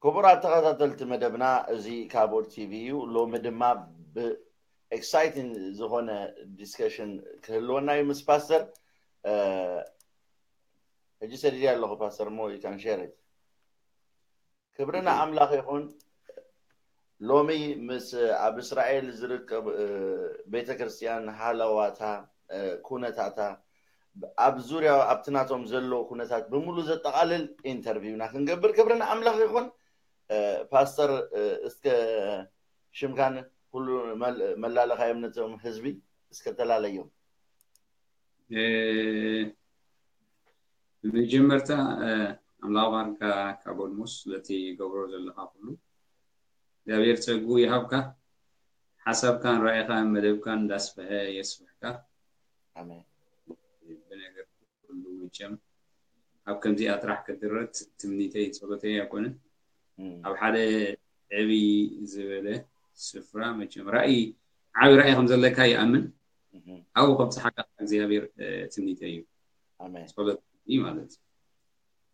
ክቡራት ተኸታተልቲ መደብና፣ እዚ ካቦድ ቲቪ እዩ። ሎሚ ድማ ብኤክሳይቲንግ ዝኾነ ዲስከሽን ክህልወና እዩ ምስ ፓስተር። ሕጂ ሰዲድ ኣለኹ ፓስተር፣ ሞ you can share it። ክብርና ኣምላኽ ይኹን። ሎሚ ምስ ኣብ እስራኤል ዝርከብ ቤተ ክርስቲያን ሃለዋታ፣ ኩነታታ፣ ኣብ ዙርያ ኣብቲ ናቶም ዘሎ ኩነታት ብምሉ ዘጠቓልል ኢንተርቪውና ክንገብር ክብርና ኣምላኽ ይኹን። ፓስተር፣ እስከ ሽምካን ኩሉ መላለኻዮም ነቶም ህዝቢ እስከ ተላለዮም። ብመጀመርታ ኣምላኽ ባርካ ካብ ኦልሞስ ለቲ ገብሮ ዘለኻ ኩሉ እግዚኣብሔር ጸጉ ይሃብካ። ሓሳብካን ራእይኻን መደብካን እንዳስፈሐ የስፍሕካ። ኣሜን። ብነገር ኩሉ መቸም ኣብ ከምዚኣ ጥራሕ ክትድረት ትምኒተይ ጸሎተይ ኣይኮነን። ኣብ ሓደ ዕብይ ዝበለ ስፍራ መቸም ራእይ ዓቢ ራእይ ከም ዘለካ ይኣምን። ኣብኡ ከም ዝሓካ እግዚኣብሔር ትምኒተይ እዩ። ኣሜን። ጸሎት እዩ ማለት እዩ።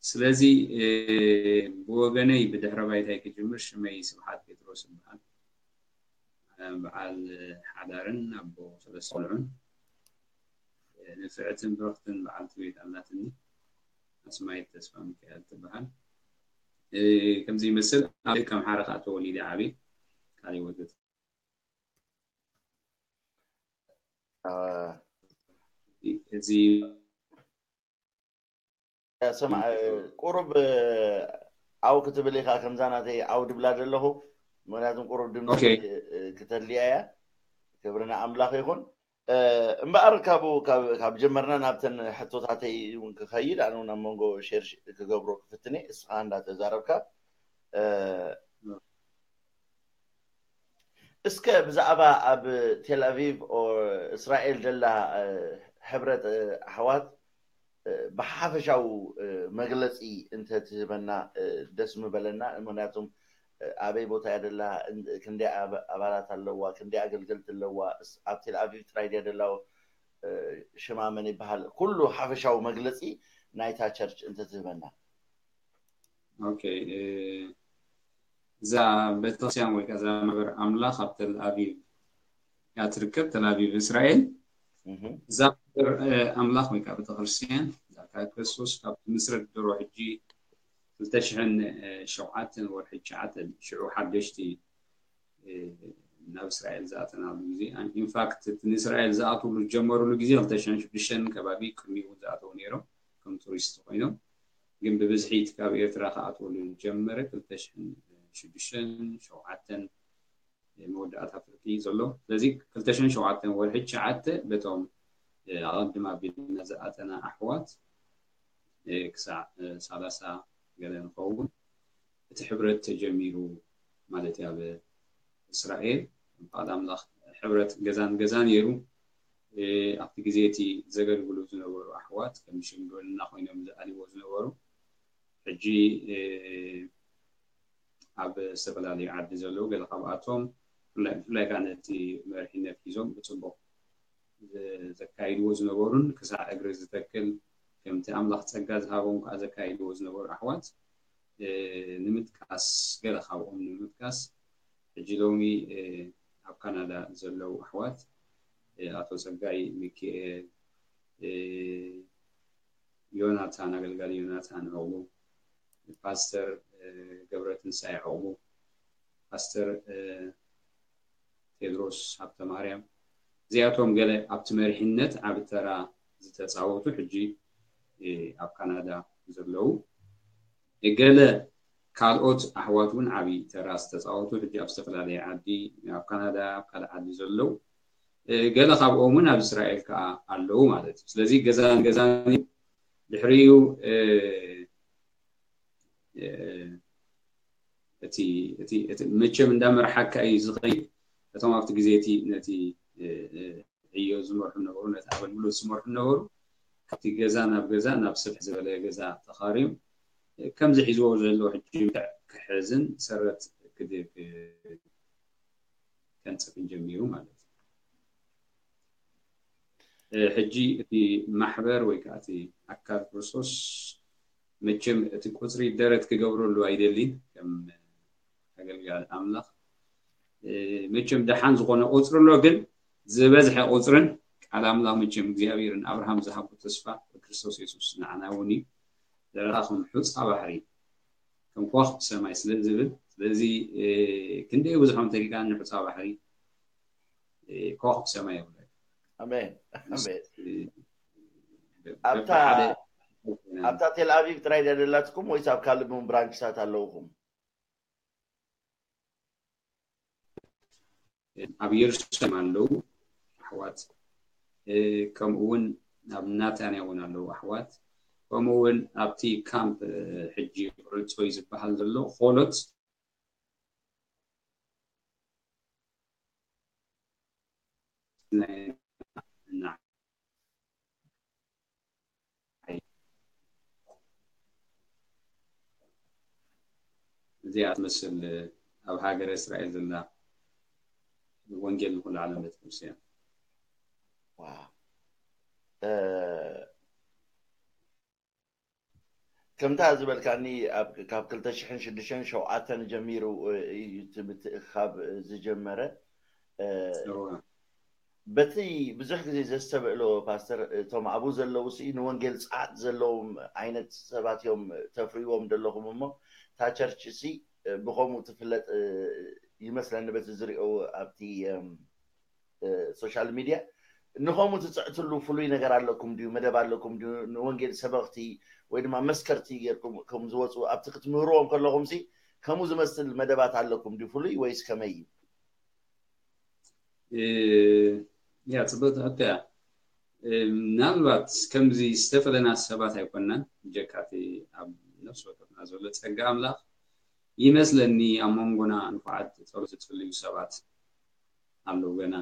ስለዚ ብወገነይ ብድሕረ ባይታይ ክጅምር ሽመይ ስብሓት ጴጥሮስ ይበሃል። በዓል ሓዳርን ኣቦ ሰለስተ ቆልዑን ንፍዕትን ብርኽትን በዓልቲ ቤት ኣላትኒ። ኣስማይት ተስፋ ሚካኤል ትበሃል። ከምዚ ይመስል ኣብ ከም ሓረ ከዓ ተወሊደ ዓብየ። ካልእ ወዘተ እዚ ሰምዓ ቁሩብ ኣው ክትብል ኢኻ። ከምዛ ናተይ ኣው ድብላ ዘለኹ፣ ምክንያቱም ቁሩብ ድምፂ ክተልያ እያ። ክብርና ኣምላኽ ይኹን። እምበኣር ካብኡ ካብ ጀመርና ናብተን ሕቶታተይ እውን ክኸይድ ኣነ እውን ኣብ መንጎ ሼር ክገብሮ ክፍትነ እስኻ እንዳተዛረብካ እስከ ብዛዕባ ኣብ ቴል ኣቪቭ እስራኤል ደላ ሕብረት ኣሕዋት ብሓፈሻዊ መግለፂ እንተትህበና ደስ ምበለና። ምክንያቱም ኣበይ ቦታ እያ ደላ፣ ክንደይ ኣባላት ኣለዋ፣ ክንደይ ኣገልገልቲ ኣለዋ፣ ኣብ ቴል ኣቪቭ ጥራይ ድያ ደላ፣ ሽማ መን ይበሃል፣ ኩሉ ሓፈሻዊ መግለፂ ናይታ ቸርች እንተትህበና። ኦኬ፣ እዛ ቤተክርስትያን ወይ ከዛ ማሕበር ኣምላኽ ኣብ ተል ኣቪቭ እያ ትርከብ፣ ተል ኣቪቭ እስራኤል። እዛ ማሕበር ኣምላኽ ወይ ከዓ ቤተክርስትያን እዛ ካብ ክርስቶስ ካብ ትምስረት ድሮ ሕጂ ክልተ ሽሕን ሸውዓተን ወርሒ ትሽዓተ ሽዑ ሓደሽቲ ናብ እስራኤል ዝኣተናሉ ግዜ፣ ኢንፋክት እቲ ንእስራኤል ዝኣትውሉ ዝጀመሩሉ ግዜ ክልተ ሽሕን ሽዱሽተን ከባቢ ቅድሚኡ እውን ዝኣተው ነይሮም ከም ቱሪስት ኮይኖም። ግን ብብዝሒ እቲ ካብ ኤርትራ ክኣትወሉ ዝጀመረ ክልተ ሽሕን ሽዱሽተን ሸውዓተን መወዳእታ ፍርቂ ዘሎ። ስለዚ ክልተ ሽሕን ሸውዓተን ወርሒ ትሽዓተ በቶም ኣቐድም ኣቢልና ዝኣተና ኣሕዋት ክሳዕ ሰላሳ ገለ ንኸውን እቲ ሕብረት ተጀሚሩ ማለት እዩ። ኣብ እስራኤል በዓል ኣምላኽ ሕብረት ገዛን ገዛ ነይሩ። ኣብቲ ግዜ እቲ ዘገልግሉ ዝነበሩ ኣሕዋት ከም ሽምግልና ኮይኖም ዝኣልዎ ዝነበሩ ሕጂ ኣብ ዝተፈላለዩ ዓዲ ዘለዉ ገለ ካብኣቶም ብፍላይ ከዓ ነቲ መሪሕነት ሒዞም ብፅቡቕ ዘካይድዎ ዝነበሩን ክሳዕ እግሪ ዝተክል ከምቲ ኣምላኽ ፀጋ ዝሃቦም ከዓ ዘካይድዎ ዝነበሩ ኣሕዋት ንምጥቃስ፣ ገለ ካብኦም ንምጥቃስ፣ ሕጂ ሎሚ ኣብ ካናዳ ዘለዉ ኣሕዋት ኣቶ ፀጋይ ሚኪኤል፣ ዮናታን፣ ኣገልጋሊ ዮናታን ዕቑቡ፣ ፓስተር ገብረትንሳኤ ዕቑቡ፣ ፓስተር ቴድሮስ ሃብተማርያም፣ እዚኣቶም ገለ ኣብቲ መሪሕነት ዓቢ ተራ ዝተፃወቱ ሕጂ ኣብ ካናዳ ዘለዉ፣ ገለ ካልኦት ኣሕዋት እውን ዓቢ ተራ ዝተፃወቱ ሕጂ ኣብ ዝተፈላለየ ዓዲ፣ ኣብ ካናዳ፣ ኣብ ካልእ ዓዲ ዘለዉ፣ ገለ ካብኦም እውን ኣብ እስራኤል ከዓ ኣለዉ ማለት እዩ። ስለዚ ገዛን ገዛን ድሕሪኡ እቲ መቸም እንዳመርሓካ እዩ ዝኸይድ። እቶም ኣብቲ ግዜ እቲ ነቲ ዕዮ ዝመርሑ ነበሩ፣ ነቲ ኣገልግሎት ዝመርሑ ነበሩ። ካብቲ ገዛ ናብ ገዛ፣ ናብ ስፍሕ ዝበለ ገዛ ተኻርዮም ከምዚ ሒዝዎ ዘሎ ሕጂ ክሕዝን ሰረት ክድግ ከንጽፍን ጀሚሩ ማለት እዩ። ሕጂ እቲ ማሕበር ወይ ከዓ እቲ ኣካል ክርስቶስ መቸም እቲ ቁፅሪ ደረት ክገብረሉ ኣይደሊን። ከም ኣገልጋሊ ኣምላኽ። መቸም ደሓን ዝኾነ ቁፅሪ ኣሎ፣ ግን ዝበዝሐ ቁፅርን ቃል ኣምላኽ መቸም እግዚኣብሔር ንኣብርሃም ዝሃቦ ተስፋ ብክርስቶስ የሱስ ንዓና እውን እዩ። ዘረኻ ከም ሑፃ ባሕሪ ከም ከዋኽብቲ ሰማይ ስለ ዝብል፣ ስለዚ ክንደይ ብዙሖም ተሪካ ንሑፃ ባሕሪ ከዋኽብቲ ሰማይ ይብለ። ኣሜን ኣሜን። ኣብታ ኣብታ ቴል ኣቪቭ ጥራይ ደላትኩም ወይስ ኣብ ካልእ እውን ብራንችታት ኣለውኩም? ኣብ የሩሳሌም ኣለዉ ኣሕዋት፣ ከምኡ እውን ኣብ ናታንያ እውን ኣለዉ ኣሕዋት፣ ከምኡ እውን ኣብቲ ካምፕ ሕጂ ርጾይ ዝበሃል ዘሎ ኾሎት እዚኣ ትመስል ኣብ ሃገረ እስራኤል ዘላ ወንጌል ንኩሉ ዓለም ቤተክርስትያን። ከምታ ዝበልካኒ ካብ ክልተ ሽሕን ሽዱሽተን ሸውዓተን ጀሚሩ እዩ እቲ ምትእኻብ ዝጀመረ። በቲ ብዙሕ ግዜ ዘስተብዕሎ ፓስተር፣ እቶም ኣብኡ ዘለዉ ሲ ንወንጌል ፃዕት ዘለዎም ዓይነት ሰባት እዮም ተፍርይዎም ዘለኹም እሞ፣ እታ ቸርች ሲ ብኸምኡ ትፍለጥ ይመስለኒ፣ በቲ ዝሪኦ ኣብቲ ሶሻል ሚድያ። ንኸምኡ ትፅዕትሉ ፍሉይ ነገር ኣለኩም ድዩ? መደብ ኣለኩም ድዩ? ንወንጌል ሰበኽቲ ወይ ድማ መስከርቲ ጌርኩም ከም ዝወፁ ኣብቲ ክትምህርዎም ከለኹም ሲ ከምኡ ዝመስል መደባት ኣለኩም ድዩ? ፍሉይ ወይስ ከመይ እዩ? ያ ፅብቅቲ ሕቶ እያ። ምናልባት ከምዚ ዝተፈለና ሰባት ኣይኮናን፣ ብጀካ እቲ ኣብ ነፍሲ ወከፍና ዘሎ ፀጋ ኣምላኽ ይመስለኒ። ኣብ መንጎና ንፉዓት ጸሎት ዝጽልዩ ሰባት ኣለዉ፣ ገና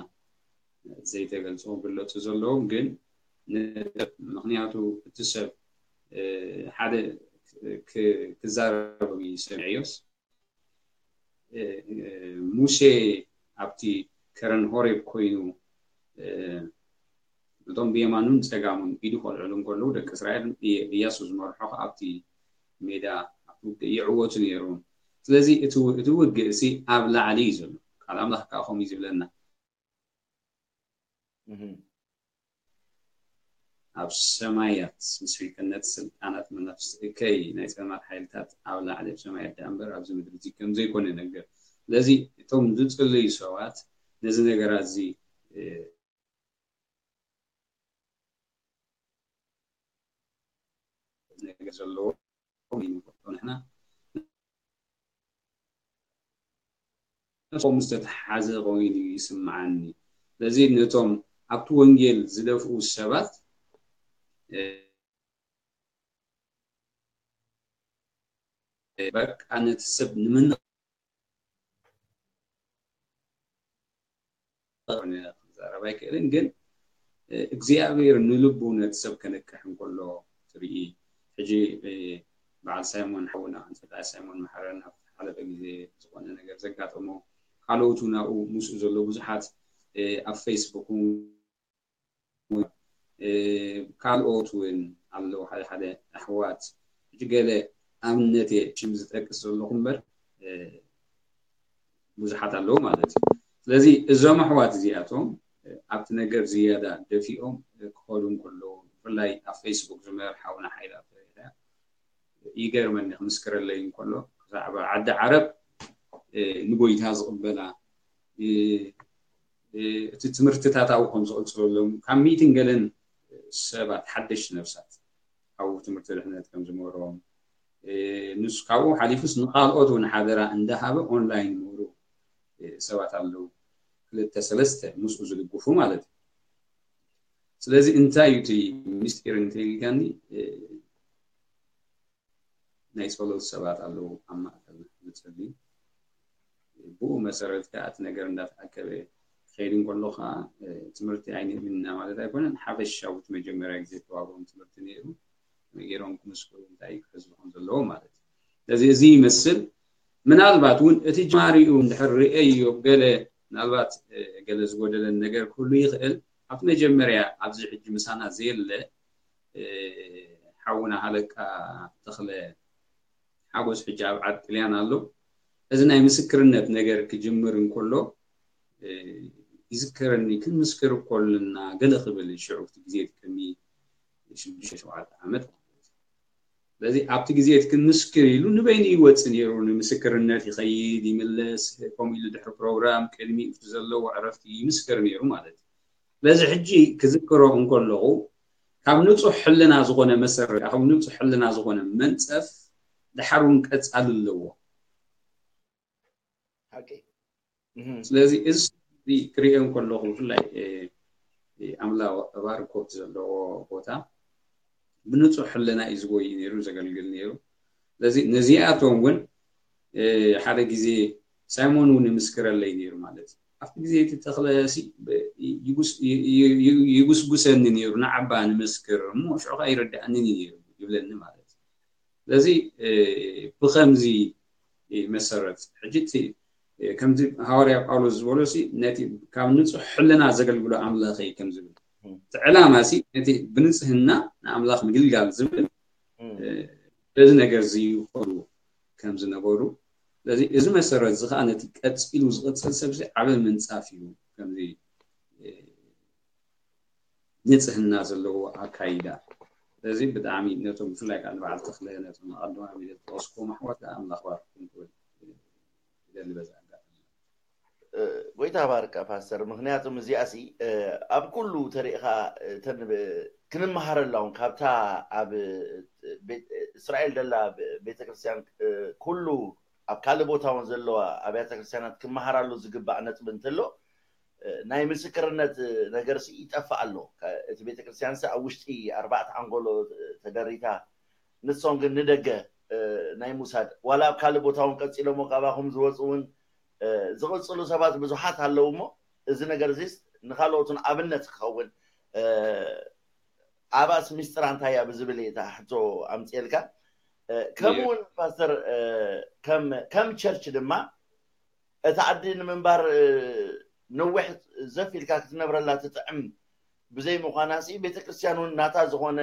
ዘይተገልጹ ክግለጹ ዘለዎም። ግን ምኽንያቱ እቲ ሰብ ሓደ ክዛረብ ሰሚዐዮስ፣ ሙሴ ኣብቲ ከረን ሆሬብ ኮይኑ እቶም ብየማኑን ጸጋሙን ኢዱ ከልዕሉ እንከለዉ፣ ደቂ እስራኤል እያሱ ዝመርሖ ከኣ ኣብቲ ሜዳ ኣብቲ ውግእ ይዕወቱ ነይሮም። ስለዚ እቲ ውግእ እዚ ኣብ ላዕሊ እዩ ዘሎ። ቃል ኣምላኽ ከዓ ከምኡ እዩ ዝብለና። ኣብ ሰማያት ምስ ሪቀነት ስልጣናት መናፍስቲ እከይ ናይ ጸልማት ሓይልታት ኣብ ላዕሊ ኣብ ሰማያት ደኣ እምበር ኣብዚ ምድሪ እዚ ከም ዘይኮነ ነገር። ስለዚ እቶም ዝጽልዩ ሰባት ነዚ ነገራት እዚ ነገር ዘለዎ ንሕና ነቶም ዝተተሓዘ ኮይኑ ይስምዓኒ። ስለዚ ነቶም ኣብቲ ወንጌል ዝደፍኡ ሰባት በቃ ነቲ ሰብ ንምንቕ ክዛረብ ኣይክእልን፣ ግን እግዚኣብሔር ንልቡ ነቲ ሰብ ከነቅሕ እንከሎ ትርኢ። ሕጂ በዓል ሳይሞን ሓውና፣ ኣንጸቃይ ሳይሞን መሓረን ኣብ ሓለፈ ግዜ ዝኾነ ነገር ዘጋጠሞ፣ ካልኦቱ ናብኡ ምስኡ ዘሎ ብዙሓት ኣብ ፌስቡክ ካልኦት እውን ኣለዉ፣ ሓደ ሓደ ኣሕዋት። ሕጂ ገለ ኣብነት እየ ሽም ዝጠቅስ ዘለኹ እምበር ብዙሓት ኣለዉ ማለት እዩ። ስለዚ እዞም ኣሕዋት እዚኣቶም ኣብቲ ነገር ዝያዳ ደፊኦም ክኸዱ እንከለዉ፣ ብፍላይ ኣብ ፌስቡክ ዝመር ሓውና ሓይላ ይገርመኒ፣ ክምስክረለይ እንከሎ ብዛዕባ ዓዲ ዓረብ ንጎይታ ዝቕበላ እቲ ትምህርትታት ኣብኡ ከም ዝቕፅለሎም ካብ ሚእትን ገለን ሰባት ሓደሽቲ ነፍሳት ኣብኡ ትምህርቲ ድሕነት ከም ዝመሮም፣ ንሱ ካብኡ ሓሊፉስ ንካልኦት እውን ሓደራ እንዳሃበ ኦንላይን ይምህሩ ሰባት ኣለዉ። ክልተ ሰለስተ ምስኡ ዝድግፉ ማለት እዩ። ስለዚ እንታይ እዩ እቲ ምስጢር እንተኢልካኒ፣ ናይ ጸሎት ሰባት ኣለዉ ኣብ ማእከልና ዝጸልዩ። ብኡ መሰረት ከኣ እቲ ነገር እንዳተኣከበ ክኸይድ እንከሎ ከኣ ትምህርቲ ኣይንህብን ኢና ማለት ኣይኮነን። ሓፈሻዊ እቲ መጀመርያ ግዜ ዝተዋህቦም ትምህርቲ ነይሩ። ከመይ ገይሮም ክምስክሩ እንታይ ክሕዝሉ ከም ዘለዎም ማለት እዩ። ስለዚ እዚ ይመስል። ምናልባት እውን እቲ ጅማሪኡ እንድሕር ርእየዮ ገለ ምናልባት ገለ ዝጎደለን ነገር ክህሉ ይኽእል። ኣብቲ መጀመርያ ኣብዚ ሕጂ ምሳና ዘየለ ሓውና ሃለቃ ተኽለ ሓጎስ ሕጂ ኣብ ዓዲ ጥልያን ኣሎ። እዚ ናይ ምስክርነት ነገር ክጅምር እንከሎ ይዝከረኒ፣ ክንምስክር እኮ ኣለና ገለ ክብል፣ ሽዑ እቲ ግዜ ቅድሚ ሽዱሽተ ሸውዓተ ዓመት ማለት እዩ። ስለዚ ኣብቲ ግዜ እቲ ክንምስክር ኢሉ ንበይኑ ይወፅእ ነይሩ፣ ንምስክርነት ይኸይድ ይምለስ፣ ከምኡ ኢሉ ድሕሪ ፕሮግራም ቅድሚ እቲ ዘለዎ ዕረፍቲ ይምስክር ነይሩ ማለት እዩ። ስለዚ ሕጂ ክዝክሮ እንከለኹ ካብ ንፁሕ ሕልና ዝኾነ መሰረት፣ ካብ ንፁሕ ሕልና ዝኾነ መንፀፍ ድሓር እውን ቀፃሊ ኣለዎ። ሓቂ ስለዚ እዚ ክሪኦ እንከለኹ ብፍላይ ኣምላ ባርኮት ዘለዎ ቦታ ብንፁሕ ሕልና እዩ ዝጎይ ነይሩ፣ ዘገልግል ነይሩ። ስለዚ ነዚኣቶም እውን ሓደ ግዜ ሳይሞን እውን ይምስክረለይ ነይሩ ማለት እዩ። ኣብቲ ግዜ እቲ ተኽለ ይጉስጉሰኒ ነይሩ፣ ንዓባ ንምስክር እሞ ሽዑ ከዓ ይረዳእኒ ነይሩ ይብለኒ ማለት እዩ። ስለዚ ብከምዚ መሰረት ሕጂ ከምዚ ሃዋርያ ጳውሎስ ዝበሎ ነቲ ካብ ንፁሕ ሕልና ዘገልግሎ ኣምላኸይ ከም ዝብል እቲ ዕላማ ሲ ነቲ ብንፅህና ንኣምላኽ ምግልጋል ዝብል በዚ ነገር እዚ ይኸዱ ከም ዝነበሩ። ስለዚ እዚ መሰረት እዚ ከዓ ነቲ ቀፂሉ ዝቕፅል ሰብ ዓበ ምንፃፍ እዩ። ከምዚ ንፅህና ዘለዎ ኣካይዳ። ስለዚ ብጣዕሚ ነቶም ብፍላይ ከዓ ንበዓል ተኽለ ነቶም ኣቐድማ ሚለ ዝጠቐስኩም ኣሕዋት ኣምላኽ ባርኩም ክብል ይደሊ በዚ ኣጋጣሚ። ጎይታ ባርካ ፓስተር፣ ምክንያቱም እዚኣ ሲ ኣብ ኩሉ ተሪእኻ እተን ክንመሃረላ እውን ካብታ ኣብ እስራኤል ዘላ ቤተክርስትያን ኩሉ ኣብ ካልእ ቦታ እውን ዘለዋ ኣብያተ ክርስትያናት ክመሃራሉ ዝግባእ ነጥቢ እንተሎ ናይ ምስክርነት ነገር ሲ ይጠፍእ ኣሎ። እቲ ቤተክርስትያን ሲ ኣብ ውሽጢ ኣርባዕተ ኣንጎሎ ተደሪታ፣ ንሶም ግን ንደገ ናይ ሙሳድ ዋላ ኣብ ካልእ ቦታ እውን ቀፂሎሞ ካባኹም ዝወፁ እውን ዝቕፅሉ ሰባት ብዙሓት ኣለዉ እሞ እዚ ነገር እዚስ ንካልኦትን ኣብነት ክኸውን ኣባስ ሚስጥራ እንታይ እያ ብዝብል እየ እታ ሕቶ ኣምፅኤልካ። ከምኡ እውን ፓስተር ከም ቸርች ድማ እቲ ዓዲ ንምንባር ነዊሕ ዘፍ ኢልካ ክትነብረላ ትጥዕም ብዘይ ምዃና ሲ ቤተክርስትያን እውን ናታ ዝኾነ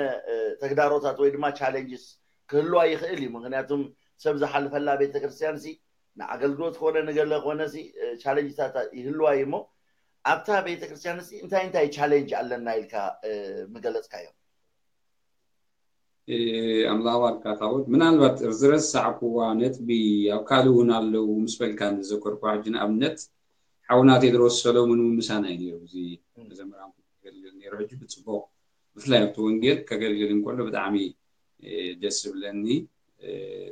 ተግዳሮታት ወይ ድማ ቻሌንጅስ ክህልዋ ይኽእል እዩ። ምክንያቱም ሰብ ዝሓልፈላ ቤተክርስትያን ሲ ንኣገልግሎት ኮነ ንገለ ኮነ ሲ ቻሌንጅታት ይህልዋ እዩ እሞ ኣብታ ቤተክርስትያን ሲ እንታይ እንታይ ቻሌንጅ ኣለና ኢልካ ምገለፅካዮ? ኣምላኽ ባርካ ታቦት። ምናልባት ዝረሳዕኩዋ ነጥቢ ኣብ ካልእ እውን ኣለዉ ምስ በልካ ንዘከርኩዋ ሕጂ ንኣብነት ሓውና ቴድሮስ ሰሎሙን እውን ምሳና እዩ ነይሩ። እዚ መዘምራን ከገልግል ነይሩ። ሕጂ ብፅቡቕ ብፍላይ ኣብቲ ወንጌል ከገልግል እንከሎ ብጣዕሚ ደስ ዝብለኒ።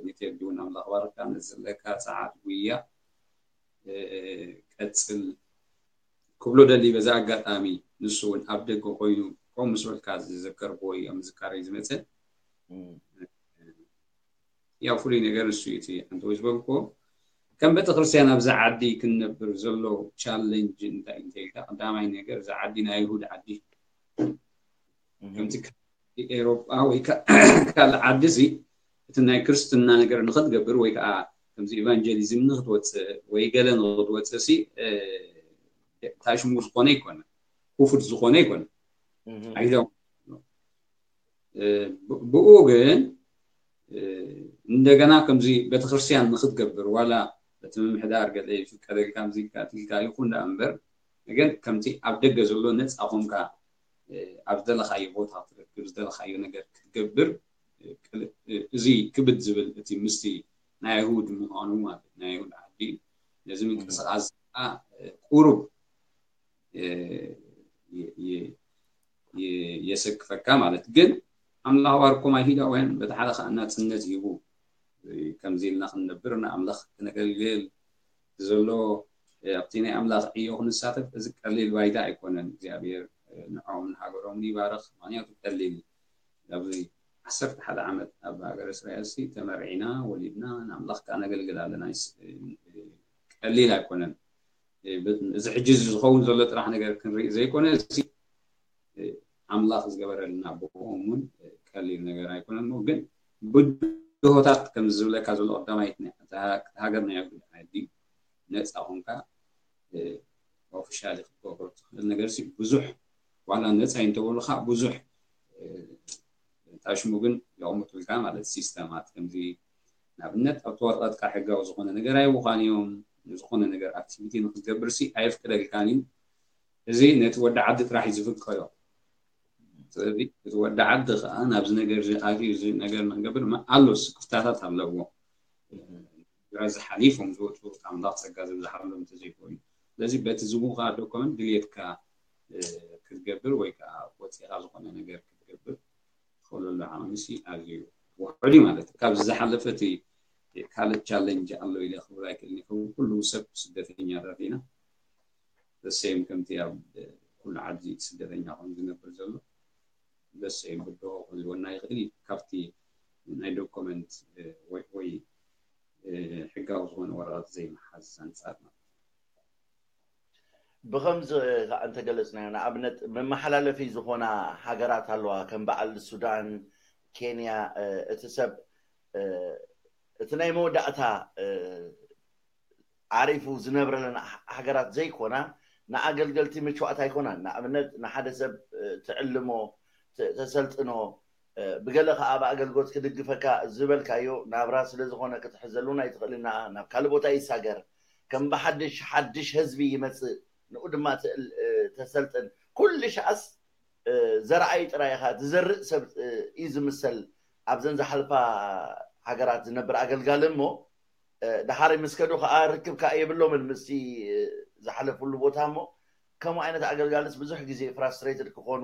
ንቴዲ እውን ኣምላኽ ባርካ ነዚ ዘለካ ፀዓት ጉያ ቀፅል ክብሎ ደሊ በዛ ኣጋጣሚ ንሱ እውን ኣብ ደገ ኮይኑ ከምኡ ምስ በልካ ዝዘከርክዎ እዩ ኣብ ምዝካረይ ዝመፀ። ያው ፍሉይ ነገር ንሱ እዩ እቲ ሓንቲ ወይ ዝበልክዎ ከም ቤተክርስትያን ኣብዚ ዓዲ ክንነብር ዘሎ ቻለንጅ እንታይ እንተኢልካ ቀዳማይ ነገር እዚ ዓዲ ናይ ኣይሁድ ዓዲ ከምቲ ኤሮጳ ወይ ካልእ ዓዲ እዚ እቲ ናይ ክርስትና ነገር ንክትገብር ወይ ከዓ ከምዚ ኢቫንጀሊዝም ንክትወፅእ ወይ ገለ ንክትወፅእ ሲ ታሽሙ ዝኾነ ይኮነ ክፉት ዝኾነ ይኮነ ኣይዘው ብኡ ግን እንደገና ከምዚ ቤተክርስትያን ንክትገብር ዋላ በቲ ምምሕዳር ገለ ይፍቀደልካ ምዚ ካትልካ ይኹን ደኣ እምበር ግን ከምቲ ኣብ ደገ ዘሎ ነፃ ኮንካ ኣብ ዝደለካዮ ቦታ ክትረክብ ዝደለካዮ ነገር ክትገብር እዚ ክብድ ዝብል እቲ ምስቲ ናይ ኣይሁድ ምዃኑ ማለት ናይ ኣይሁድ ዓዲ ነዚ ምንቅስቃስ ቁሩብ የሰክፈካ ማለት ግን ኣምላኽ ባርኮም ኣይሁዳውያን በቲ ሓደ ከዓ ናፅነት ሂቡ ከምዚ ኢልና ክንነብር ንኣምላኽ ክነገልግል ዘሎ ኣብቲ ናይ ኣምላኽ ዕዮ ክንሳተፍ እዚ ቀሊል ባይታ ኣይኮነን እግዚኣብሔር ንዖም ንሃገሮም ይባርኽ ምክንያቱ ቀሊል ኣብዚ ዓሰርተ ሓደ ዓመት ኣብ ሃገር እስራኤል ሲ ተመርዒና ወሊድና ንኣምላኽ ከዓ ነገልግል ኣለና ቀሊል ኣይኮነን እዚ ሕጂ ዝኸውን ዘሎ ጥራሕ ነገር ክንርኢ ዘይኮነ ኣምላኽ ዝገበረልና ብኦም እውን ቀሊል ነገር ኣይኮነን ግን ብድሆታት ከም ዝብለካ ዘሎ ቀዳማይት ሃገር ናይ ዓዲ ነፃ ኮንካ ኦፊሻሊ ክትገብሮ ትኽእል ነገር ብዙሕ ዋላ ነፃ እንተበሉካ ብዙሕ ታሽሙ ግን የቕምጡልካ ማለት ሲስተማት ከምዚ ንኣብነት ኣብቲ ወረቐትካ ሕጋዊ ዝኾነ ነገር ኣይውኻን እዮም። ዝኾነ ነገር ኣክቲቪቲ ንክትገብር ሲ ኣየፍቅደልካን እዩ። እዚ ነቲ ወዲ ዓዲ ጥራሕ እዩ ዝፍቀዶ። ስለዚ እቲ ወዲ ዓዲ ከዓ ናብዚ ነገር እዚ ኣትዩ እዚ ነገር ንክገብር ማ- ኣሎ ስክፍታታት ኣለዎ። ግራ ዝሓሊፎም ዝወፁ ኣምላኽ ፀጋ ዝብዝሓሎም እንተዘይኮይኑ፣ ስለዚ በቲ ዝቡካ ዶኮመንት ድልየትካ ክትገብር ወይ ከዓ ወፂኻ ዝኾነ ነገር ክትገብር ትኽእለሉ ዓቕሚ ሲ ኣዝዩ ውሑድ እዩ ማለት እዩ። ካብዚ ዝሓለፈ እቲ ካልእ ቻለንጅ ኣሎ ኢለ ክብል ኣይክእልን። ከም ኩሉ ሰብ ስደተኛታት ኢና። ዘሰይም ከምቲ ኣብ ኩሉ ዓዲ ስደተኛ ኮይኑ ዝነብር ዘሎ ዘሰይም ብድሆ ክህልወና ይኽእል እዩ። ካብቲ ናይ ዶኮመንት ወይ ወይ ሕጋዊ ዝኾነ ወረቐት ዘይምሓዝ ኣንጻር ማለት እዩ። ብኸምዚ ከዓ እንተገለፅናዮ ንኣብነት መመሓላለፊ ዝኾና ሃገራት ኣለዋ ከም በዓል ሱዳን፣ ኬንያ። እቲ ሰብ እቲ ናይ መወዳእታ ዓሪፉ ዝነብረለን ሃገራት ዘይኮና ንኣገልገልቲ ምችዋት ኣይኮናን። ንኣብነት ንሓደ ሰብ ትዕልሞ፣ ተሰልጥኖ፣ ብገለ ከዓ ኣብ ኣገልግሎት ክድግፈካ ዝበልካዮ ናብራ ስለዝኾነ ክትሕዘሉን ኣይትኽእልና ናብ ካልእ ቦታ ይሳገር። ከም ብሓድሽ ሓድሽ ህዝቢ ይመፅእ፣ ንኡ ድማ ተሰልጥን። ኩሉ ሻኣስ ዘርኣይ ጥራይ ኢኻ ትዘርእ ሰብ እዩ ዝምሰል። ኣብዘን ዝሓልፋ ሃገራት ዝነብር ኣገልጋሊ እሞ ድሓር ምስ ከዱ ከዓ ርክብ ከዓ የብሎምን ምስቲ ዝሓለፍሉ ቦታ እሞ ከምኡ ዓይነት ኣገልጋልስ ብዙሕ ግዜ ፍራስትሬትድ ክኾኑ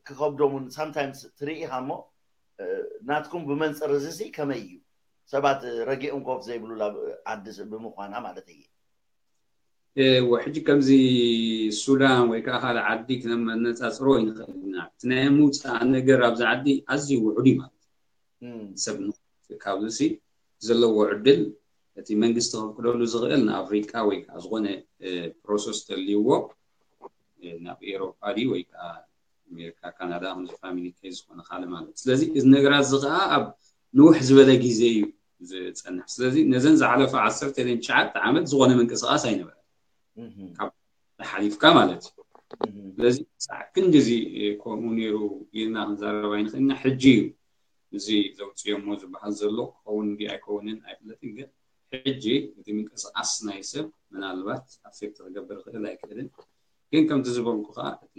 ክኸብዶም እውን ሳምታይምስ ትርኢ ኢኻ እሞ ናትኩም ብመንፅር እዚ ሲ ከመይ እዩ? ሰባት ረጊኦም ኮፍ ዘይብሉ ላብ ዓዲ ብምዃና ማለት እየ። ሕጂ ከምዚ ሱዳን ወይ ከዓ ካልእ ዓዲ ክነመነፃፅሮ ይንኽእል ኢና። እቲ ናይ ምውፃእ ነገር ኣብዚ ዓዲ ኣዝዩ ውሑድ እዩ ማለት እዩ። ሰብ ካብዚ ሲ ዘለዎ ዕድል እቲ መንግስቲ ከፍቅደሉ ዝኽእል ንኣፍሪቃ ወይ ከዓ ዝኾነ ፕሮሰስ ተልይዎ ናብ ኤሮፓ ድዩ ወይ ከዓ ኣሜሪካ፣ ካናዳ፣ ከምዚ ፋሚሊ ኬዝ ዝኾነ ካልእ ማለት እዩ። ስለዚ እዚ ነገራት እዚ ከዓ ኣብ ንውሕ ዝበለ ግዜ እዩ ዝፀንሕ። ስለዚ ነዘን ዝሓለፈ ዓሰርተ ኢለን ትሽዓተ ዓመት ዝኾነ ምንቅስቃስ ኣይነበረን። ካብ ሓሊፍካ ማለት እዩ። ስለዚ ሳዕ ክንድዚ ከምኡ ነይሩ ኢልና ክንዛረብ ኣይንኽእልና። ሕጂ እዩ እዚ ዘውፅዮሞ ዝበሃል ዘሎ ክኸውን እንዲ ኣይከውንን ኣይፍለጥን፣ ግን ሕጂ እቲ ምንቅስቃስ ናይ ሰብ ምናልባት ኣፌክት ክገብር ይኽእል ኣይክእልን። ግን ከምቲ ዝበልኩ ከዓ እቲ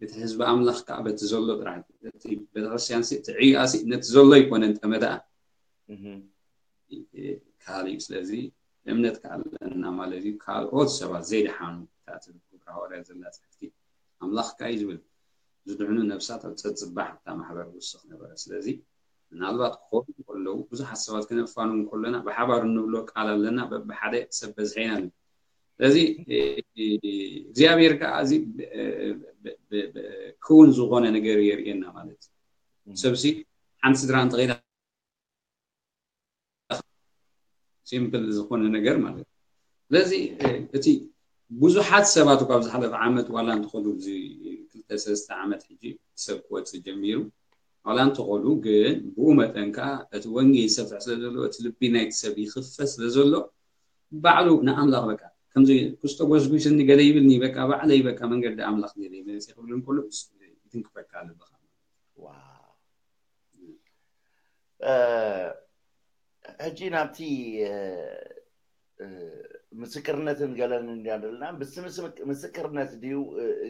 እቲ ህዝቢ ኣምላኽ ከዓ በቲ ዘሎ ጥራሕ እቲ ቤተክርስትያን ሲ እቲ ዕዩኣ ሲ ነቲ ዘሎ ኣይኮነን ጠመደኣ ካልእ እዩ። ስለዚ እምነት ከዓ ኣለና ማለት እዩ። ካልኦት ሰባት ዘይደሓኑ እታ ትብል ግብረ ሃዋርያ ዘላ ፅሕፍቲ ኣምላኽ ከዓ እዩ ዝብል ዝድሕኑ ነብሳት ኣብ ፀፅባሕ እታ ማሕበር ውስኽ ነበረ። ስለዚ ምናልባት ክኾኑ ከለዉ ብዙሓት ሰባት ክነፋኑ ከለና ብሓባር እንብሎ ቃል ኣለና። በብሓደ ሰብ በዝሐ ኢና ንብል። ስለዚ እግዚኣብሔር ከዓ እዚ ክውን ዝኾነ ነገር የርእየና ማለት እዩ። ሰብሲ ሓንቲ ስድራ እንተኸይዳ ሲምፕል ዝኾነ ነገር ማለት እዩ። ስለዚ እቲ ብዙሓት ሰባት ካብ ዝሓለፈ ዓመት ዋላ እንተኾኑ እዚ ክልተ ሰለስተ ዓመት ሕጂ ሰብ ክወፅእ ጀሚሩ ዋላ እንተኾኑ ግን ብኡ መጠን ከዓ እቲ ወንጌል ይሰፍሕ ስለ ዘሎ እቲ ልቢ ናይቲ ሰብ ይኽፈት ስለ ዘሎ ባዕሉ ንኣምላኽ በቃ ከምዚ ክስቶ ጎስጒስኒ ገለ ይብልኒ በቃ ባዕለይ በቃ መንገዲ ኣምላኽ ገለ ይመፅእ ክብል እንከሎ ይትንክፈካ ኣለካ። ሕጂ ናብቲ ምስክርነትን ገለን እንዲያ ዘለና ምስክርነት ድዩ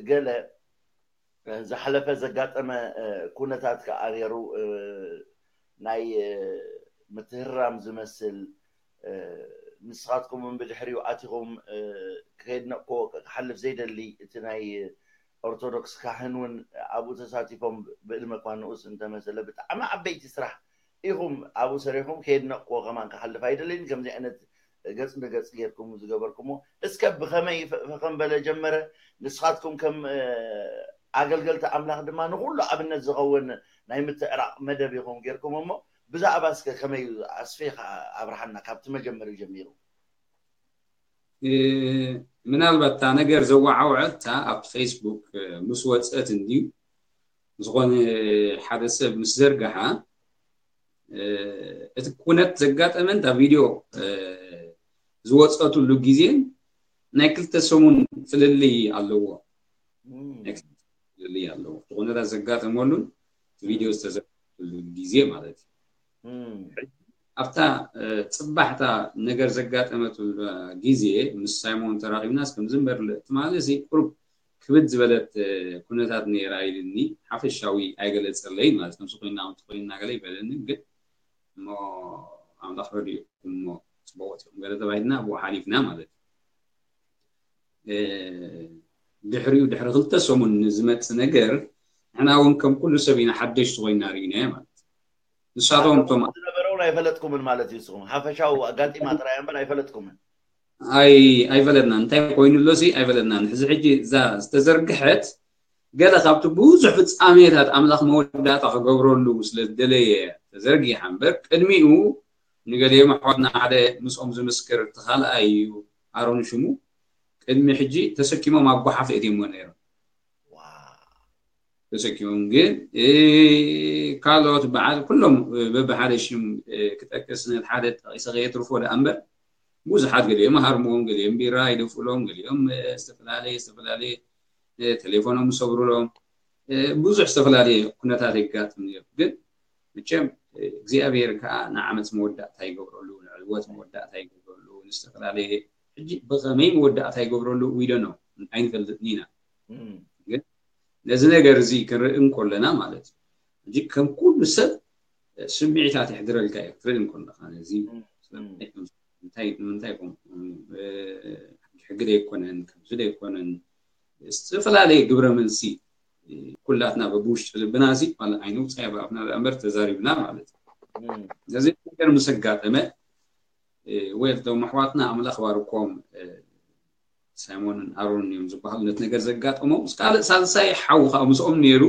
ገለ ዝሓለፈ ዘጋጠመ ኩነታት ከዓ ነይሩ ናይ ምትህራም ዝመስል ንስኻትኩም ብድሕሪኡ ኣቲኹም ከየድነቅክዎ ክሓልፍ ዘይደሊ እቲ ናይ ኦርቶዶክስ ካህን እውን ኣብኡ ተሳቲፎም ብእድመ እኳ ንኡስ እንተመሰለ ብጣዕሚ ዓበይቲ ስራሕ ኢኹም ኣብኡ ሰሪሕኩም ከየድነቅክዎ ከማን ክሓልፍ ኣይደልን ከምዚ ዓይነት ገፅ ንገፅ ጌርኩም ዝገበርኩሞ እስከ ብኸመይ ፈኸም በለ ጀመረ ንስኻትኩም ከም ኣገልገልቲ ኣምላኽ ድማ ንኩሉ ኣብነት ዝኸውን ናይ ምትዕራቕ መደብ ኢኹም ጌርኩም እሞ ብዛዕባ እስከ ከመይ ኣስፊኻ ኣብርሃና ካብቲ መጀመሪኡ ጀሚሩ ምናልባት እታ ነገር ዘወዓውዐታ ኣብቲ ፌስቡክ ምስ ወፀት እንድዩ ዝኾነ ሓደ ሰብ ምስ ዘርግሓ እቲ ኩነት ዘጋጠመን እታ ቪድዮ ዝወፀትሉ ግዜን ናይ ክልተ ሰሙን ፍልልይ ኣለዎ። ፍልልይ ኣለዎ። እቲ ኩነታት ዘጋጠመሉን ቪድዮ ዝተዘርግሐሉ ግዜ ማለት እዩ። ኣብታ ጽባሕታ ነገር ዘጋጠመትሉ ግዜ ምስ ሳይሞን ተራኺብናስ ከም ዝንበር ትማሊ እዚ ቁሩብ ክብድ ዝበለት ኩነታት ነይራ ኢልኒ። ሓፈሻዊ ኣይገለጸለይ ማለት ከምዚ ኮይና ከምቲ ኮይና ገለ ይበለኒ፣ ግን እሞ ኣምላኽ ረድኡ እሞ ጽቡቕ ኢኹም ገለ ተባሂልና ብኡ ሓሊፍና ማለት እዩ። ድሕሪኡ ድሕሪ ክልተ ሰሙን ንዝመጽእ ነገር ንሕና እውን ከም ኩሉ ሰብ ኢና ሓደሽቲ ኮይና ርኢናዮ ማለት እዩ። ንሳቶም እቶም ዝነበረውን ኣይፈለጥኩምን ማለት እዩ። ንስኹም ሓፈሻዊ ኣጋጢማ ጥራይ እምበር ኣይፈለጥኩምን። ኣይ ኣይፈለጥናን እንታይ ኮይኑ ኣሎ ሲ ኣይፈለጥናን። ሕዚ ሕጂ እዛ ዝተዘርግሐት ገለ ካብቲ ብዙሕ ፍጻሜታት ኣምላኽ መወዳእታ ክገብረሉ ስለ ዝደለየ ተዘርጊሓ እምበር ቅድሚኡ ንገሊኦም ኣሕዋትና ሓደ ምስኦም ዝምስክር እቲ ካልኣይ እዩ ኣሮን ሽሙ ቅድሚ ሕጂ ተሰኪሞም ኣብ ጓሓፍ እትዮሞ ነይሮም። ተሰኪሞም ግን ካልኦት በዓል ኩሎም በብሓደ ሽም ክጠቅስ ነቲ ሓደ ጠቂሰ ከየትርፎ ደኣ እምበር ብዙሓት ገሊኦም ሃርሞም ገሊኦም ቢራ ይደፍኡሎም ገሊኦም ዝተፈላለየ ዝተፈላለየ ተሌፎኖም ይሰብሩሎም ብዙሕ ዝተፈላለየ ኩነታት የጋጥም ነይሩ። ግን መቸም እግዚኣብሔር ከዓ ንዓመፅ መወዳእታ ይገብረሉ ንዕወት መወዳእታ ይገብረሉ ንዝተፈላለየ ሕጂ ብኸመይ መወዳእታ ይገብረሉ ዊደኖ ኣይንፈልጥን ኢና። ግን ነዚ ነገር እዚ ክንርኢ እንኮለና ማለት እዩ ሕጂ ከም ኩሉ ሰብ ስምዒታት የሕድረልካ እዩ ክትርኢ እንኮለካ ነዚ ንምንታይ ሕጊ ዘይኮነን ከምዚ ዘይኮነን ዝተፈላለየ ግብረ መልሲ ኩላትና በብውሽጢ ልብና እዚ ኣይነውፃ ባፍና እምበር ተዛሪብና ማለት እዩ። ነዚ ነገር ምስ ኣጋጠመ ወይ እቶም ኣሕዋትና ኣምላኽ ባርኮም ሳይሞንን ኣሮንን እዮም ዝበሃሉ ነቲ ነገር ዘጋጠሞም ምስ ካልእ ሳልሳይ ሓው ከዓ ምስኦም ነይሩ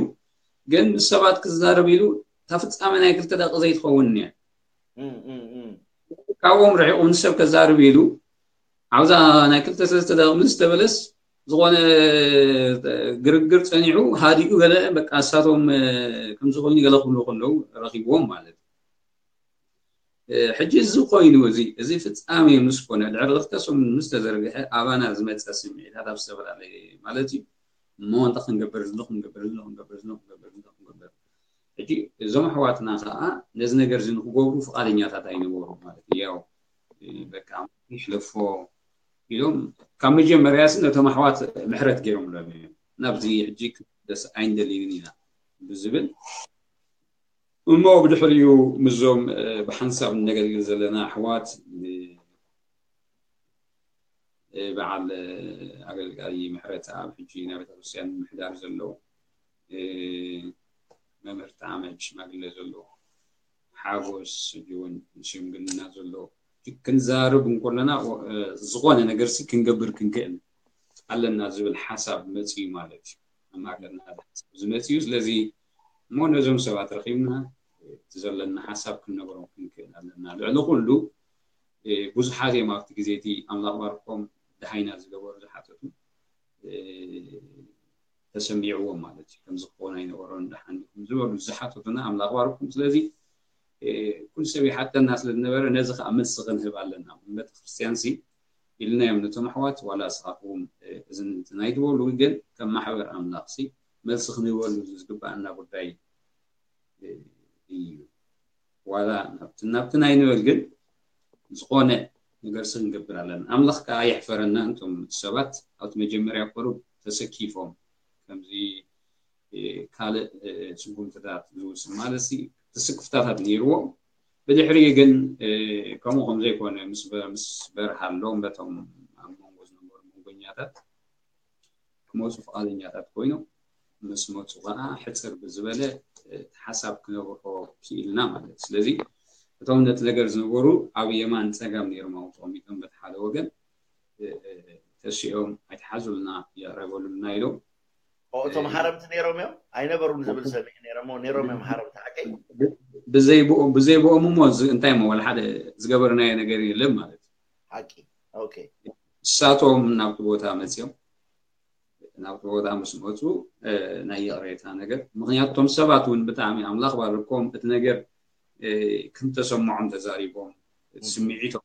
ግን ምስ ሰባት ክዛረብ ኢሉ እታ ፍፃመ ናይ ክልተ ደቂ ዘይትኸውን እያ ካብኦም ርሒቑ ምስ ሰብ ከዛርብ ኢሉ ኣብዛ ናይ ክልተ ሰለስተ ደቂ ምስ ተበለስ ዝኾነ ግርግር ፀኒዑ ሃዲኡ ገለ በቃ እሳቶም ከምዝኾኑ ገለ ክብሉ ከለዉ ረኺብዎም ማለት እዩ። ሕጂ እዚ ኮይኑ እዚ እዚ ፍፃሜ ምስ ኮነ ድሕሪ ክልተ ሰሙን ምስ ተዘርግሐ ኣባና ዝመፀ ስምዒታት ኣብ ዝተፈላለየ ማለት እዩ እሞ እንተ ክንገብር ዝሎ ክንገብር ዝሎ ክንገብር ዝሎ ክንገብር ዝሎ ክንገብር ሕጂ እዞም ኣሕዋትና ከዓ ነዚ ነገር እዚ ንክገብሩ ፍቓደኛታት ኣይነበሩ ማለት እዩ። ያው በቃ ይሕለፎ ኢሎም ካብ መጀመርያ ሲ ነቶም ኣሕዋት ምሕረት ገይሮምሎም እዮም። ናብዚ ሕጂ ክደስ ኣይንደልይን ኢና ብዝብል እሞ ብድሕሪኡ ምስዞም ብሓንሳብ ነገልግል ዘለና ኣሕዋት በዓል ኣገልጋሊ ምሕረት ኣብ ሕጂ ናይ ቤተክርስትያን ምሕዳር ዘሎ መምህር ተኣመድ ሽማግለ ዘሎ ሓጎስ ሕጂ እውን ሽምግልና ዘሎ ክንዛርብ እንኮለና ዝኾነ ነገር ሲ ክንገብር ክንክእል ኣለና ዝብል ሓሳብ መፅዩ ማለት እዩ። ኣብ ማእከልና ዝመፅዩ ስለዚ እሞ ነዞም ሰባት ረኪብና እቲ ዘለና ሓሳብ ክንነገሮም ክንክእል ኣለና። ልዕሊ ኩሉ ብዙሓት እዮም ኣብቲ ግዜ እቲ ኣምላኽ ባርኮም ደሃይና ዝገበሩ ዝሓተቱ ተሰሚዕዎም ማለት እዩ። ከምዚ ክኸውን ኣይነበሮን ደሓን ዲኹም ዝበሉ ዝሓተቱና ኣምላኽ ባርኮም። ስለዚ ኩሉ ሰብ ይሓተና ስለ ዝነበረ ነዚ ከዓ መልሲ ክንህብ ኣለና። ቤተክርስትያን ሲ ኢልናዮም ነቶም ኣሕዋት ዋላ ስኻትኩም እዚ እንትን ኣይትበሉ ግን ከም ማሕበር ኣምላኽ ሲ መልሲ ክንህበሉ ዝግባኣና ጉዳይ እዩ። ዋላ ናብትን ናብትን ኣይንበል ግን ዝኾነ ነገር ሲ ክንገብር ኣለና። ኣምላኽ ከዓ የሕፈረና እንቶም ሰባት ኣብቲ መጀመርያ ቁሩብ ተሰኪፎም ከምዚ ካልእ ስጉምትታት ዝውስን ማለት ሲ ትስክፍታታት ነይርዎም ብድሕሪ ግን ከምኡ ከም ዘይኮነ ምስ በርሃሎም በቶም ኣብ መንጎ ዝነበሩ መንጎኛታት ክመፁ ፍቓደኛታት ኮይኖም ምስ መፁ ከዓ ሕፅር ብዝበለ ሓሳብ ክነብርሆ ክኢልና ማለት እዩ። ስለዚ እቶም ነቲ ነገር ዝነበሩ ኣብ የማን ፀጋም ነይሮም ኣብኡ ተቐሚጦም በቲ ሓደ ወገን ተሲኦም ኣይትሓዙልና የቕረበሉልና ኢሎም እቶም ሓረምቲ ነይሮም እዮም ኣይነበሩን ዝብል ሰሚዕ ነይሮም ነይሮም እዮም ሓረምቲ ሓቀይ ብዘይብኦም እሞ እንታይ ሞ ወላ ሓደ ዝገበርናዮ ነገር የለን ማለት እዩ። ሓቂ ኦኬ እሳቶም ናብቲ ቦታ መፅኦም ናብቲ ቦታ ምስ መፁ ናይ ይቕሬታ ነገር ምክንያቱ እቶም ሰባት እውን ብጣዕሚ ኣምላኽ ባርኮም እቲ ነገር ክንተሰምዖም ተዛሪቦም ስምዒቶም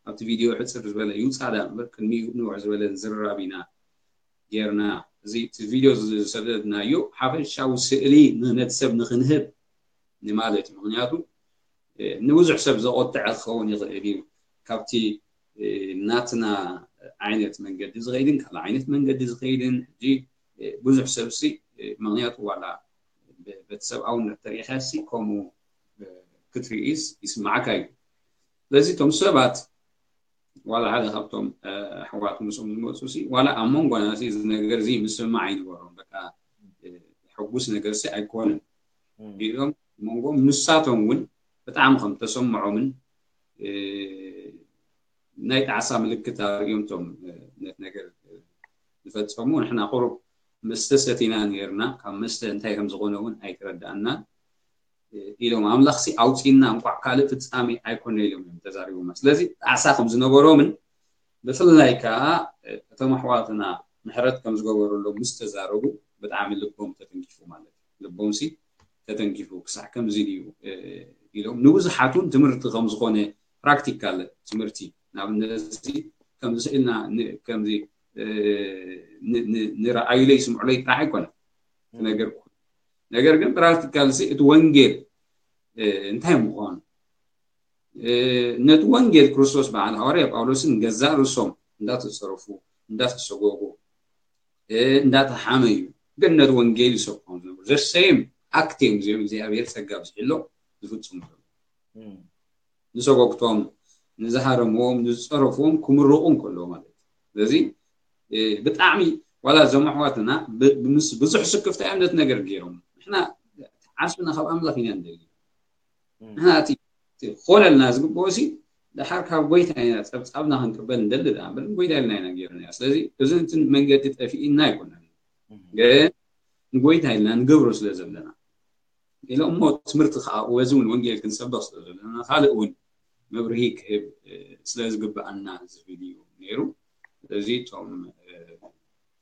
ኣብቲ ቪድዮ ሕፅር ዝበለ ይውፃእ ዳ እምበር ቅድሚኡ ንውሕ ዝበለ ዝርራብ ኢና ጌርና እዚ እቲ ቪድዮ ዝሰደድናዮ ሓፈሻዊ ስእሊ ንነቲ ሰብ ንክንህብ ንማለት እዩ ምክንያቱ ንብዙሕ ሰብ ዘቆጥዐ ክኸውን ይኽእል እዩ። ካብቲ ናትና ዓይነት መንገዲ ዝኸይድን ካልእ ዓይነት መንገዲ ዝኸይድን ሕጂ ብዙሕ ሰብሲ ምኽንያቱ ዋላ በቲ ሰብኣውነት ተሪኢኻሲ ከምኡ ክትርኢስ ይስማዓካ እዩ። ስለዚ እቶም ሰባት ዋላ ሓደ ካብቶም ኣሕዋት ምስኦም ዝመፁ ሲ ዋላ ኣብ መንጎና ሲ እዚ ነገር እዚ ምስምማዕ ኣይነበሮም። በቃ ሕጉስ ነገር ሲ ኣይኮነን ኢሎም መንጎም ንሳቶም እውን ብጣዕሚ ከም ተሰምዖምን ናይ ጣዕሳ ምልክት ኣርእዮም ቶም ነቲ ነገር ዝፈፀሙ። ንሕና ቁሩብ መስተ ሰቲና ነርና፣ ካብ መስተ እንታይ ከም ዝኾነ እውን ኣይተረዳእናን ኢሎም ኣምላኽሲ ኣውፂና እንኳዕ ካልእ ፍፃሜ ኣይኮነ ኢሎም እዮም ተዛሪቦማ። ስለዚ ጣዕሳ ከም ዝነበሮምን ብፍላይ ከዓ እቶም ኣሕዋትና ምሕረት ከም ዝገበረሎም ምስ ተዛረቡ ብጣዕሚ ልቦም ተተንኪፉ ማለት እዩ። ልቦምሲ ተተንኪፉ ክሳዕ ከምዚ ድዩ ኢሎም ንብዙሓት እውን ትምህርቲ ከም ዝኾነ ፕራክቲካል ትምህርቲ ንኣብነት ከምዚ ስእልና ከምዚ ንረኣዩለይ ስምዑለይ ጥራሕ ኣይኮነን ነገር ነገር ግን ፕራክቲካል ሲ እቲ ወንጌል እንታይ ምዃኑ ነቲ ወንጌል ክርስቶስ በዓል ሃዋርያ ጳውሎስን ገዛእ ርእሶም እንዳተፀረፉ እንዳተሰጎጉ እንዳተሓመዩ ግን ነቲ ወንጌል ይሰብኮም ዝነበሩ ዘሰይም ኣክት እዮም እዚኦም እግዚኣብሔር ፀጋ ብዝሕሎም ዝፍፅሙ ዘለዉ ንሰጎግቶም ንዝሃረምዎም ንዝፀረፍዎም ክምረቑ እንከለዉ ማለት እዩ። ስለዚ ብጣዕሚ ዋላ እዞም ኣሕዋትና ምስ ብዙሕ ስክፍታ እዮም ነቲ ነገር ገይሮም ንሕና ዓስብና ካብ ኣምላኽ ኢና ንደሊ ንሕና እቲ ክኾነልና ዝግብኦ ሲ ደሓር ካብ ጎይታ ኢና ፀብፃብና ክንቅበል ንደሊ ደኣ እምበር ንጎይታ ኢልና ኢና ገይርና ስለዚ እዚ እንትን መንገዲ ጠፊእና ኣይኮነን ግን ንጎይታ ኢልና ንገብሮ ስለ ዘለና ኢለ እሞ ትምህርቲ ከዓ በዚ እውን ወንጌል ክንሰብኽ ስለ ዘለና ካልእ እውን መብርሂ ክህብ ስለ ዝግብኣና ዝብል እዩ ነይሩ። ስለዚ እቶም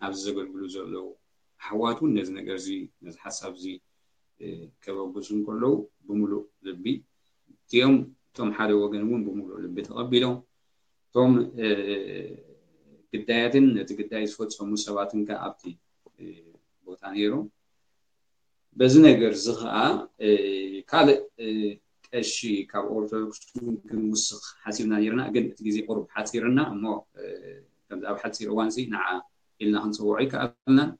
ኣብዚ ዘገልግሉ ዘለዉ ኣሕዋት እውን ነዚ ነገር እዚ ነዚ ሓሳብ እዚ ከበግሱ እንከለዉ ብምሉእ ልቢ እቲኦም እቶም ሓደ ወገን እውን ብምሉእ ልቢ ተቐቢሎም እቶም ግዳያትን ነቲ ግዳይ ዝፈፀሙ ሰባትን ከዓ ኣብቲ ቦታ ነይሮም። በዚ ነገር እዚ ከዓ ካልእ ቀሺ ካብ ኦርቶዶክስ ክንውስኽ ሓሲብና ነርና ግን እቲ ግዜ ቁሩብ ሓፂርና እሞ ከምዚ ኣብ ሓፂር እዋን ሲ ንዓ ኢልና ክንፅውዖ ይከኣልናን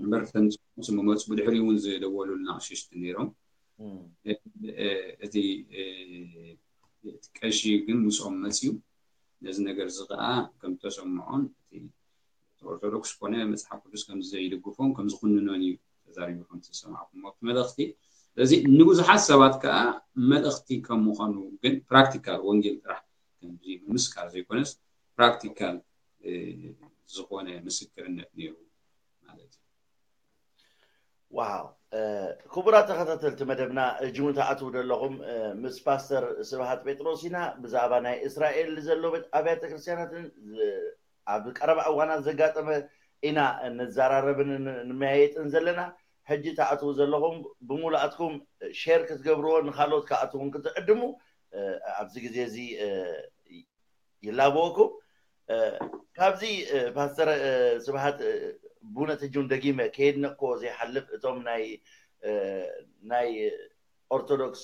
እምበር ተምፅኡ ዝመፁ ብድሕሪ እውን ዝደወሉልና ቀሸሽቲ ነይሮም እቲ ቀሺ ግን ምስኦም መፅዩ ነዚ ነገር እዚ ከዓ ከም ተሰምዖን እቲ ኦርቶዶክስ ኮነ መፅሓፍ ቅዱስ ከም ዘይድግፎን ከም ዝኩንኖን እዩ ተዛሪቡ ከም ዝሰማዕኩሞ እቲ መልእኽቲ ስለዚ ንብዙሓት ሰባት ከዓ መልእኽቲ ከም ምዃኑ ግን ፕራክቲካል ወንጌል ጥራሕ ከምዚ ምምስካር ዘይኮነስ ፕራክቲካል ዝኾነ ምስክርነት ነይሩ ማለት እዩ ዋው ክቡራት ተኸታተልቲ መደብና እጅውን ተኣትዉ ዘለኹም ምስ ፓስተር ስብሃት ጴጥሮስ ኢና ብዛዕባ ናይ እስራኤል ዘሎ ኣብያተ ክርስትያናትን ኣብ ቀረባ እዋናት ዘጋጠመ ኢና ንዘራረብን ንመያየጥን ዘለና ሕጂ ተኣትዉ ዘለኹም ብሙሉኣትኩም ሼር ክትገብርዎ ንካልኦት ክኣትውን ክትዕድሙ ኣብዚ ግዜ እዚ ይላበወኩም ካብዚ ፓስተር ስብሃት ብእውነት ሕጂ እውን ደጊመ ከየድነቅክዎ ዘይሓልፍ እቶም ናይ ናይ ኦርቶዶክስ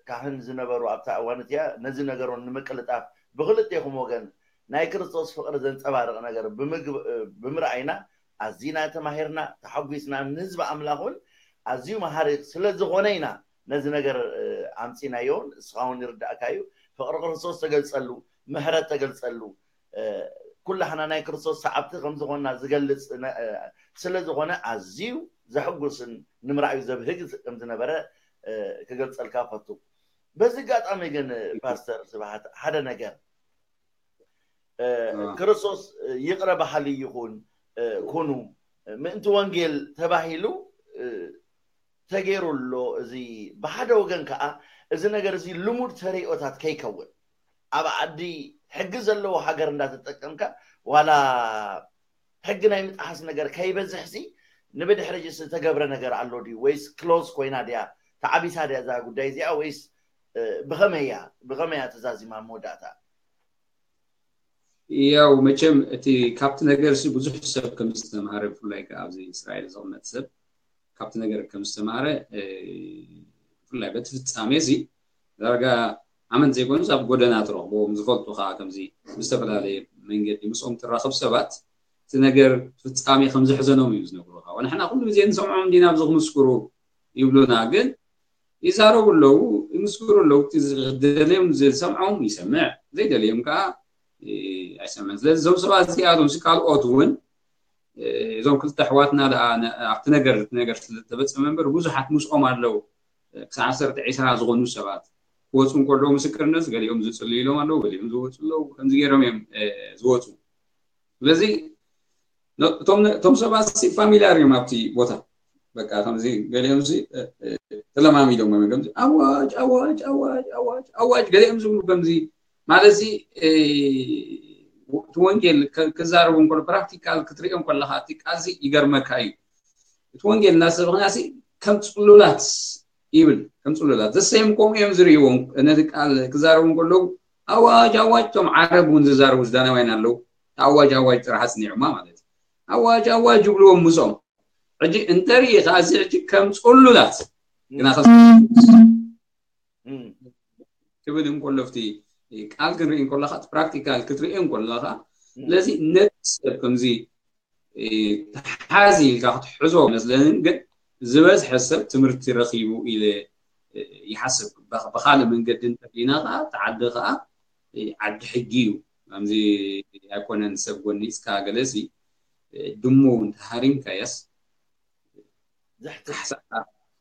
ካህን ዝነበሩ ኣብታ እዋን እቲያ ነዚ ነገሮም ንምቅልጣፍ ብክልቴኹም ወገን ናይ ክርስቶስ ፍቅሪ ዘንፀባርቕ ነገር ብምርኣይና ኣዚና ተማሂርና ተሓጒስና ንህዝቢ ኣምላኽ እውን ኣዝዩ መሃሪ ስለ ዝኾነ ኢና ነዚ ነገር ኣምፂናዮን እስኻ እውን ይርዳእካ እዩ ፍቅሪ ክርስቶስ ተገልፀሉ ምሕረት ተገልፀሉ ኩላህና ናይ ክርስቶስ ሰዓብቲ ከም ዝኾንና ዝገልፅ ስለ ዝኾነ ኣዝዩ ዘሕጉስን ንምርኣዩ ዘብህግ ከም ዝነበረ ክገልፀልካ ፈቱ በዚ ኣጋጣሚ ግን ፓስተር ስብሓት ሓደ ነገር ክርስቶስ ይቕረ በሃሊ ይኹን ኩኑ ምእንቲ ወንጌል ተባሂሉ ተገይሩ ኣሎ እዚ ብሓደ ወገን ከዓ እዚ ነገር እዚ ልሙድ ተርእዮታት ከይከውን ኣብ ዓዲ ሕጊ ዘለዎ ሃገር እንዳተጠቀምካ ዋላ ሕጊ ናይ ምጥሓስ ነገር ከይበዝሕሲ ንብድሕሪ ዝተገብረ ነገር ኣሎ ድዩ ወይስ ክሎዝ ኮይና ድያ ተዓቢሳ ድያ እዛ ጉዳይ እዚኣ ወይስ ብኸመይ እያ ብኸመይ እያ ተዛዚማ መወዳእታ ያው መቸም እቲ ካብቲ ነገር ሲ ብዙሕ ሰብ ከም ዝተማሃረ ብፍላይ ከዓ ኣብዚ እስራኤል ዝቕመጥ ሰብ ካብቲ ነገር ከም ዝተማሃረ ብፍላይ በቲ ፍጻሜ እዚ ዳርጋ ኣመንቲ ዘይኮኑስ ኣብ ጎደና ትረኽቦም፣ ዝፈልጡ ከዓ ከምዚ ብዝተፈላለየ መንገዲ ምስኦም ትራኸብ ሰባት እቲ ነገር ፍጻሜ ከም ዘሕዘኖም እዩ ዝነግሩኻ። ወንሕና ኩሉ ግዜ ንሰምዖም እንዲና ኣብዚ ክምስክሩ ይብሉና፣ ግን ይዛረቡ ኣለዉ፣ ይምስክሩ ኣለዉ። እቲ ዝደልዮም ዝሰምዖም ይሰምዕ፣ ዘይደልዮም ከዓ ኣይሰምዕን። ስለዚ እዞም ሰባት እዚኣቶም ካልኦት እውን እዞም ክልተ ኣሕዋትና ደኣ ኣብቲ ነገር እቲ ነገር ስለተፈጸመ እምበር ብዙሓት ምስኦም ኣለዉ። ክሳብ ዓሰርተ ዒስራ ዝኾኑ ሰባት ክወፁ እንከለዉ ምስክርነት ገሊኦም ዝፅልዩ ኢሎም ኣለዉ፣ ገሊኦም ዝወፁ ኣለዉ። ከምዚ ገይሮም እዮም ዝወፁ። ስለዚ እቶም ሰባት ሲ ፋሚሊያር እዮም ኣብቲ ቦታ። በቃ ከምዚ ገሊኦም ሲ ተለማሚዶም እዮም ከምዚ ኣዋጅ ኣዋጅ ኣዋጅ ኣዋጅ ኣዋጅ ገሊኦም ዝብሉ ከምዚ ማለት ሲ እቲ ወንጌል ክዛረቡ እንከሎ ፕራክቲካል ክትሪኦም ከለካ እቲ ቃልሲ ይገርመካ እዩ። እቲ ወንጌል እናሰበኽና ሲ ከም ፅሉላት ይብል ከም ፅሉላት ዘሰይም ከምኡ እዮም ዝርእዎም። ነቲ ቃል ክዛረቡ እንከለዉ ኣዋጅ ኣዋጅ እቶም ዓረብ እውን ዝዛረቡ ሱዳናውያን ኣለዉ። ኣዋጅ ኣዋጅ ጥራሕ ኣፅኒዖማ ማለት እዩ። ኣዋጅ ኣዋጅ ይብልዎም ምስኦም። ሕጂ እንተርኢ ከኣዚ ሕጂ ከም ፅሉላት ግና ክብል እንከሎ ብቲ ቃል ክንርኢ እንከለካ እቲ ፕራክቲካል ክትርእዮ እንከለካ ስለዚ ነቲ ሰብ ከምዚ ተሓዚ ኢልካ ክትሕዞ መስለንን ግን ዝበዝሐ ሰብ ትምህርቲ ረኪቡ ኢለ ይሓስብ። ብካልእ መንገዲ እንተሪኢና ከዓ እቲ ዓዲ ከዓ ዓዲ ሕጊ እዩ። ከምዚ ኣይኮነን ሰብ ጎኒፅካ ገለሲ ድሙ እንተሃሪምካያስ ካሕሳኣ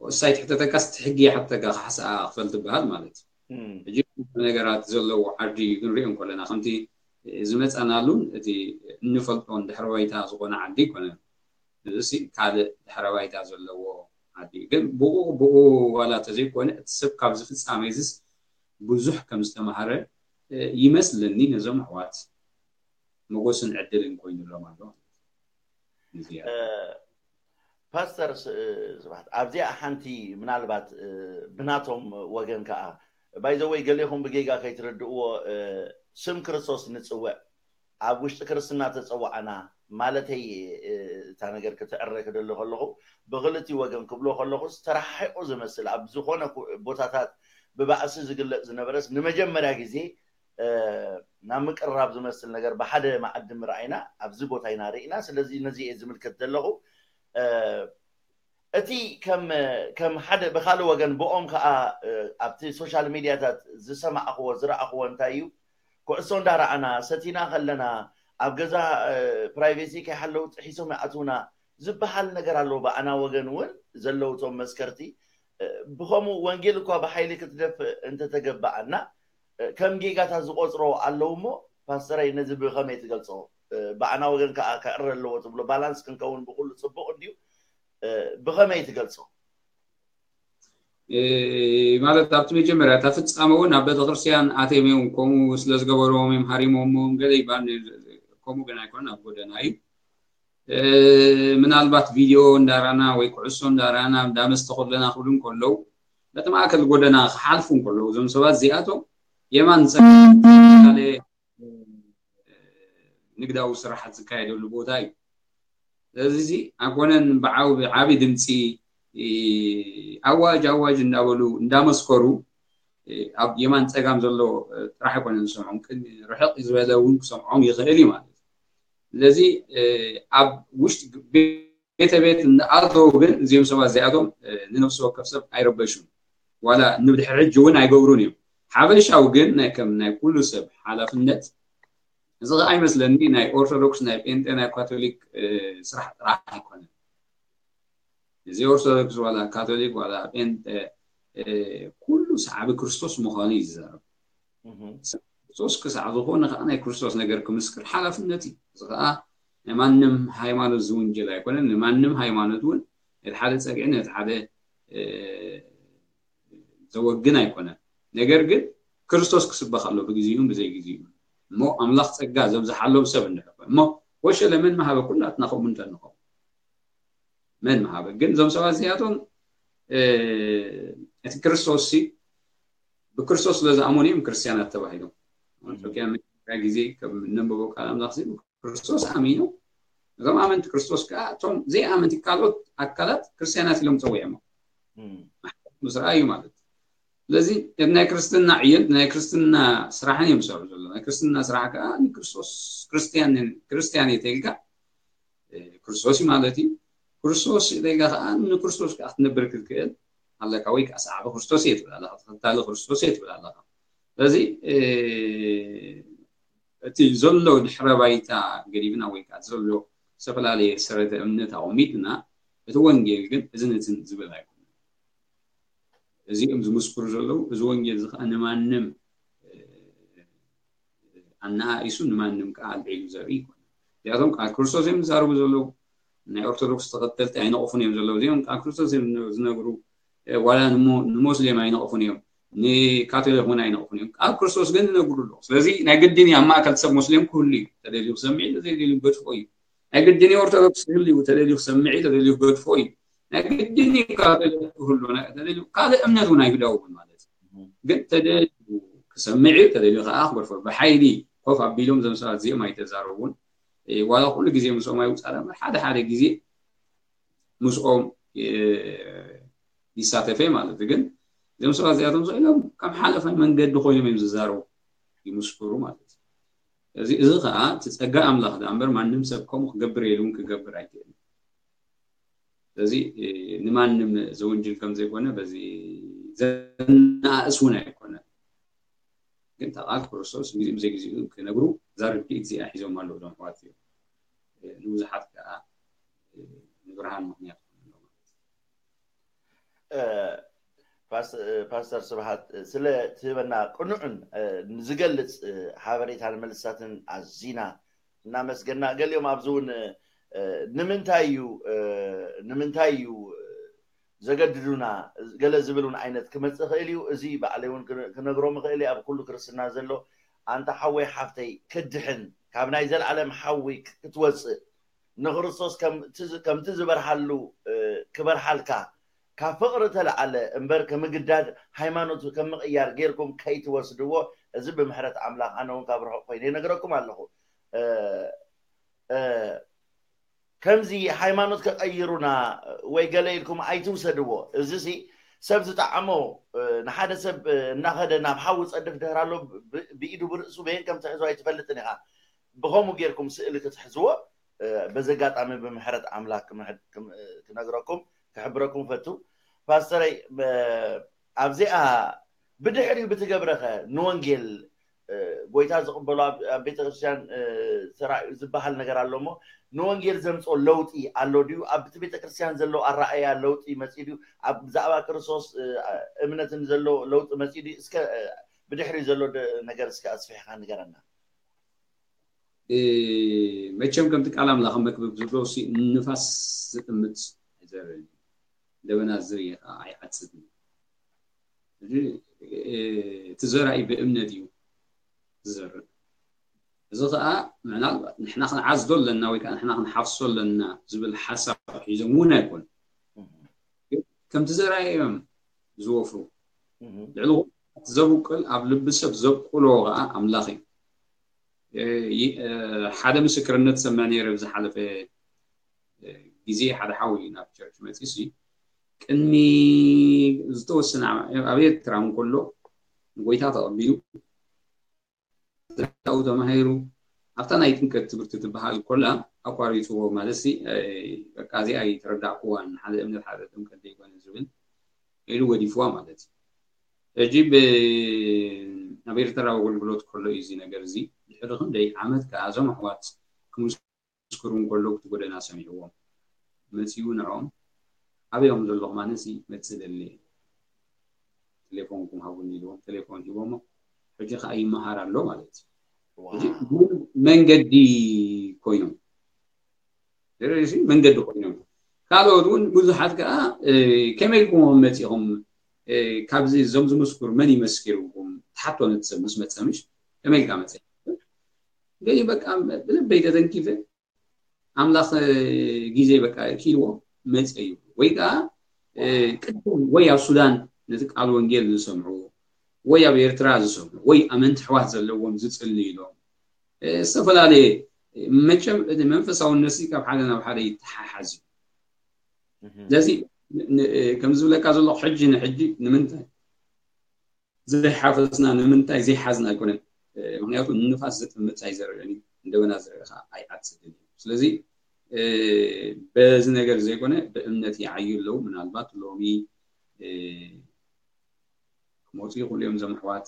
ወሳይ ትሕተተካስ እቲ ሕጊ ይሓተካ ካሕሳኣ ክፈል ትበሃል ማለት እዩ። ሕጂ ነገራት ዘለዎ ዓዲ ክንሪኦ እንከለና ከምቲ ዝመፀናሉን እቲ እንፈልጦን ድሕረ ባይታ ዝኾነ ዓዲ ይኮነ። እዚ ካልእ ድሕረ ባይታ ዘለዎ ዓዲ እዩ። ግን ብኡ ብኡ ዋላ ተዘይኮነ እቲ ሰብ ካብዚ ፍፃመ እዚስ ብዙሕ ከም ዝተማሃረ ይመስለኒ ነዞም ኣሕዋት መጎስን ዕድልን ኮይኑሎም ኣሎ። ፓስተር ስብሓት ኣብዚኣ ሓንቲ ምናልባት ብናቶም ወገን ከዓ ባይዘወይ ገሌኹም ብጌጋ ከይትርድእዎ ስም ክርስቶስ ንፅውዕ ኣብ ውሽጢ ክርስትና ተፀዋዕና ማለተይ እታ ነገር ክትዕረ ክደሊ ከለኹ ብክልቲ ወገን ክብሎ ከለኹስ ተረሓሒቑ ዝመስል ኣብ ዝኾነ ቦታታት ብባእሲ ዝግለፅ ዝነበረስ ንመጀመርያ ግዜ ናብ ምቅርራብ ዝመስል ነገር ብሓደ መኣዲ ምርኣይና ኣብዚ ቦታ ኢና ርኢና። ስለዚ ነዚ እየ ዝምልከት ዘለኹ። እቲ ከም ሓደ ብካልእ ወገን ብኦም ከዓ ኣብቲ ሶሻል ሚድያታት ዝሰማዕክዎ ዝረኣክዎ እንታይ እዩ? ኩዕሶ እንዳረኣና ሰቲና ከለና ኣብ ገዛ ፕራይቬሲ ከይሓለው ጥሒሶም ይኣትውና ዝበሃል ነገር ኣሎ። ብኣና ወገን እውን ዘለውቶም መስከርቲ ብኸምኡ ወንጌል እኳ ብሓይሊ ክትደፍእ እንተተገበኣና ከም ጌጋታት ዝቆፅሮ ኣለዉ እሞ ፓስተረይ ነዚ ብኸመይ ትገልፆ? ብኣና ወገን ከዓ ክዕረ ኣለዎ ትብሎ ባላንስ ክንከውን ብኩሉ ፅቡቅ እንድዩ። ብኸመይ ትገልፆ? ማለት ኣብቲ መጀመርያ እታ ፍፃመ እውን ኣብ ቤተክርስትያን ኣትዮም እዮም ከምኡ ስለዝገበርዎም እዮም ሃሪሞሞም ገለ ይባል ከምኡ ግን ኣይኮነን ኣብ ጎደና እዩ። ምናልባት ቪድዮ እንዳራና ወይ ኩዕሶ እንዳራና እንዳመስተ ከለና ክብሉ እንከለዉ በቲ ማእከል ጎደና ክሓልፉ እንከለዉ እዞም ሰባት እዚኣቶም የማን ንግዳዊ ስራሓት ዝካየደሉ ቦታ እዩ። ስለዚ ኣይኮነን ብዓው ብዓቢ ድምፂ ኣዋጅ ኣዋጅ እንዳበሉ እንዳመስከሩ ኣብ የማን ፀጋም ዘሎ ጥራሕ ኣይኮነን ዝሰምዖም ቅድሚ ርሕቕ ዝበለ እውን ክሰምዖም ይኽእል እዩ ማለት እዩ። ስለዚ ኣብ ውሽጢ ቤተ ቤት እናኣተው ግን እዚኦም ሰባት እዚኣቶም ንነፍሲ ወከፍ ሰብ ኣይረበሹን ዋላ ንብድሕሪ ሕጂ እውን ኣይገብሩን እዮም። ሓበሻዊ ግን ናይ ከም ናይ ኩሉ ሰብ ሓላፍነት እዚ ከዓ ኣይመስለኒ ናይ ኦርቶዶክስ ናይ ጴንጤ ናይ ካቶሊክ ስራሕ ጥራሕ ኣይኮነን። እዚ ኦርቶዶክስ ዋላ ካቶሊክ ዋላ ጴንጤ ኩሉ ሰዓቢ ክርስቶስ ምዃኑ እዩ ዝዛረብ። ክርስቶስ ክሳዕ ዝኾነ ከዓ ናይ ክርስቶስ ነገር ክምስክር ሓላፍነት እዩ። እዚ ከዓ ናይ ማንም ሃይማኖት ዝውንጀል ኣይኮነን። ንማንም ሃይማኖት እውን ነቲ ሓደ ፀግዒ ነቲ ሓደ ዘወግን ኣይኮነን። ነገር ግን ክርስቶስ ክስበኽ ኣሎ ብግዜኡን ብዘይ ግዜኡን። እሞ ኣምላኽ ጸጋ ዘብዝሓሎም ሰብ እንድሕር እሞ ወሸለ መን መሃበ ኩላትና ከምኡ እንተንኸውን መን መሃበ ግን እዞም ሰባት እዚኣቶም እቲ ክርስቶስ ሲ ብክርስቶስ ስለ ዝኣመኑ እዮም ክርስትያናት ተባሂሎም። ኣንጾኪያ መጀመርያ ግዜ ከም እነንብቦ ቃል ኣምላኽ ሲ ክርስቶስ ኣሚኑ እዞም ኣመንቲ ክርስቶስ ከዓ እቶም ዘይኣመንቲ ካልኦት ኣካላት ክርስትያናት ኢሎም ፀዊዖሞ ምስ ረኣዩ ማለት ስለዚ እቲ ናይ ክርስትና ዕዮን ናይ ክርስትና ስራሕን እዮም ዝሰርሑ ዘሎ። ናይ ክርስትና ስራሕ ከዓ ንክርስቶስ ክርስትያን ክርስትያን እየ ተልካ ክርስቶስ እዩ ማለት እዩ። ክርስቶስ ኢለካ ከዓ ንክርስቶስ ከዓ ክትነብር ክትክእል ኣለካ፣ ወይ ከዓ ሰዓቢ ክርስቶስ እየ ትብል ኣለካ፣ ተኸታሊ ክርስቶስ እየ ትብል ኣለካ። ስለዚ እቲ ዘሎ ድሕረ ባይታ ገዲፍና ወይ ከዓ ዘሎ ዝተፈላለየ ሰረተ እምነት ኣቐሚጥና እቲ ወንጌል ግን እዝን እትን ዝብል ኣይኮነን። እዚኦም ዝምስክሩ ዘለዉ እዚ ወንጌል እዚ ከዓ ንማንም ኣነኣኢሱ ንማንም ከዓ ኣልዒሉ ዘርኢ ይኮነ። እዚኣቶም ቃል ክርስቶስ እዮም ዝዛረቡ ዘለዉ። ናይ ኦርቶዶክስ ተኸተልቲ ኣይነቕፉን እዮም ዘለዉ። እዚኦም ቃል ክርስቶስ እዮም ዝነግሩ። ዋላ ንሞስሌም ኣይነቕፉን እዮም፣ ንካቶሊክ እውን ኣይነቕፉን እዮም። ቃል ክርስቶስ ግን ዝነግሩ ኣለዉ። ስለዚ ናይ ግድን ኣብ ማእከል ሰብ ሙስሊም ክህሉ እዩ። ተደልዩ ክሰምዕ እዩ፣ ተደልዩ ገድፎ እዩ። ናይ ግድን ኦርቶዶክስ ክህሉ እዩ፣ ተደልዩ ክሰምዕ እዩ፣ ተደልዩ ገድፎ እዩ። ናይ ግድን እዩ ካቶሊክ ክህሉ፣ ካልእ እምነት እውን ኣይግዳውን ማለት እዩ። ግን ተደልዩ ክሰምዕ እዩ፣ ተደልዩ ከዓ ክገድፎ። ብሓይሊ ኮፍ ኣቢሎም እዞም ሰባት እዚኦም ኣይተዛረቡን። ዋላ ኩሉ ግዜ ምስኦም ኣይውፃእ፣ ሓደ ሓደ ግዜ ምስኦም ይሳተፈ ማለት እዩ። ግን እዞም ሰባት እዚኣቶም ኢሎም ከም ሓለፋይ መንገዲ ኮይኖም እዮም ዝዛረቡ፣ ይምስክሩ ማለት እዩ። እዚ እዚ ከዓ እቲ ፀጋ ኣምላኽ ዳ እምበር ማንም ሰብ ከምኡ ክገብር የልውን ክገብር ኣይክእልን። ስለዚ ንማንም ዘወንጅል ከም ዘይኮነ በዚ ዘናእስ እውን ኣይኮነ። ግን ተቓል ክርስቶስ ግዜኡ ብዘይ ግዜኡ ክነግሩ እዛ ርድኢት እዚኣ ሒዞም ኣለዉ እዞም ኣሕዋት እዮም። ንብዙሓት ከዓ ንብርሃን ምክንያት ኮይኑ ኣሎ ማለት እዩ። ፓስተር ስብሃት ስለ ትህበና ቅኑዕን ዝገልፅ ሓበሬታን መልስታትን ኣዚና እናመስገና። ገሊኦም ኣብዚ እውን ንምንታይ እዩ ንምንታይ እዩ ዘገድዱና ገለ ዝብል እውን ዓይነት ክመፅእ ይኽእል እዩ። እዚ ባዕለይ እውን ክነግሮም ይኽእል እየ። ኣብ ኩሉ ክርስትና ዘሎ ኣንታ ሓወይ ሓፍተይ ክድሕን ካብ ናይ ዘለዓለም ሓዊ ክትወፅእ ንክርስቶስ ከምቲ ዝበርሃሉ ክበርሃልካ ካብ ፍቕሪ ተለዓለ እምበር ከምግዳድ ሃይማኖት ከም ምቕያር ጌርኩም ከይትወስድዎ። እዚ ብምሕረት ኣምላኽ ኣነ እውን ካብ ርሑቕ ኮይነ ይነግረኩም ኣለኹ። ከምዚ ሃይማኖት ከቐይሩና ወይ ገለ ኢልኩም ኣይትውሰድዎ። እዚ ሲ ሰብ ዝጠዓሞ ንሓደ ሰብ እናኸደ ናብ ሓዊ ጸድፍ ድሕር ኣሎ ብኢዱ ብርእሱ በየን ከም ትሕዞ ኣይትፈልጥን ኢኻ። ብኸምኡ ጌርኩም ስእሊ ክትሕዝዎ በዚ ኣጋጣሚ ብምሕረት ኣምላክ ክነግረኩም ክሕብረኩም ፈቱ። ፓስተረይ ኣብዚኣ ብድሕሪኡ ብትገብረኸ ንወንጌል ጎይታ ዝቕበሉ ኣብ ቤተክርስትያን ተራእዩ ዝበሃል ነገር ኣሎ እሞ ንወንጌል ዘምፅኦ ለውጢ ኣሎ ድዩ? ኣብቲ ቤተክርስትያን ዘሎ ኣረኣያ ለውጢ መፂ ድዩ? ኣብ ብዛዕባ ክርስቶስ እምነትን ዘሎ ለውጢ መፂ ድዩ? እስከ ብድሕሪኡ ዘሎ ነገር እስከ ኣስፊሕካ ንገረና። መቸም ከምቲ ቃል ኣምላኽ መክብብ ዝብሎ ንፋስ ዝጥምት ኣይዘርእ፣ ደበና ዝርኢ ከዓ ኣይዓፅድን። እቲ ዘራኢ ብእምነት እዩ ዝዘርእ። እዚ ከዓ ምናልባት ንሕና ክንዓዝዶ ኣለና ወይ ከዓ ንሕና ክንሓፍሶ ኣለና ዝብል ሓሳብ ሒዞም እውን ኣይኮኑ። ከምቲ ዘራኢ እዮም ዝወፍሩ። ልዕሊ ዘብቁል ኣብ ልቢ ሰብ ዘብቁሎ ከዓ ኣምላኽ እዩ። ሓደ ምስክርነት ሰምዕ ነይረ ብዝሓለፈ ግዜ ሓደ ሓው እዩ ናብ ቸርች መፂ ሲ ቅድሚ ዝተወሰነ ኣብ ኤርትራ እንከሎ ንጎይታ ተቐቢሉ ዛኡ ተማሂሩ ኣብታ ናይ ጥምቀት ትምህርቲ ትበሃል ኮላ ኣቋሪፅዎ ማለት ሲ በቃ እዚኣ ኣይተረዳእኩዋን ሓደ እምነት ሓደ ጥምቀት ዘይኮነ ዝብል ኢሉ ወዲፍዋ ማለት እዩ። ሕጂ ኣብ ኤርትራ ኣገልግሎት ከሎ እዩ እዚ ነገር እዚ ድሕሪ ክንደይ ዓመት ከዓ እዞም ኣሕዋት ክምስክሩ እንከሎ እቲ ጎደና ሰሚዕዎም መፅኡ ንዕኦም ኣበዮም ዘለኹም ኣነሲ መፅእ ደሊ ቴሌፎንኩም ሃቡኒ ኢልዎም ቴሌፎን ሂቦሞ ሕጂ ከዓ ይመሃር ኣሎ ማለት እዩ። መንገዲ ኮይኖም መንገዲ ኮይኖም ካልኦት እውን ብዙሓት ከዓ ከመይ ኢልኩም መፂኹም ካብዚ እዞም ዝምስክሩ መን ይመስኪርኩም ትሓቶ ነቲ ሰብ ምስ መፀ ምሽ ከመይ ኢልካ መፀ ገይ በቃ ብልበይ ተተንኪፈ ኣምላኽ ግዜ በቃ ኪልዎ መፀ እዩ ወይ ከዓ ቅድም ወይ ኣብ ሱዳን ነቲ ቃል ወንጌል ዝሰምዑ ወይ ኣብ ኤርትራ ዝሰምዑ ወይ ኣመንቲ ኣሕዋት ዘለዎም ዝፅልዩ ኢሎም ዝተፈላለየ መቸም እቲ መንፈሳውነት ካብ ሓደ ናብ ሓደ ይተሓሓዝ እዩ። ስለዚ ከም ዝብለካ ዘለኹ ሕጂ ንሕጂ ንምንታይ ዘይሓፈስና ንምንታይ ዘይሓዝና ኣይኮነን። ምክንያቱ ንፋስ ዝጥምት ኣይዘርዕን እዩ፣ እንደበና ዝርእ ከዓ ኣይዓጽድን እዩ። ስለዚ በዚ ነገር ዘይኮነ ብእምነት ይዓዩ ኣለዉ። ምናልባት ሎሚ ክመፁ ይኽእሉ እዮም እዞም ኣሕዋት፣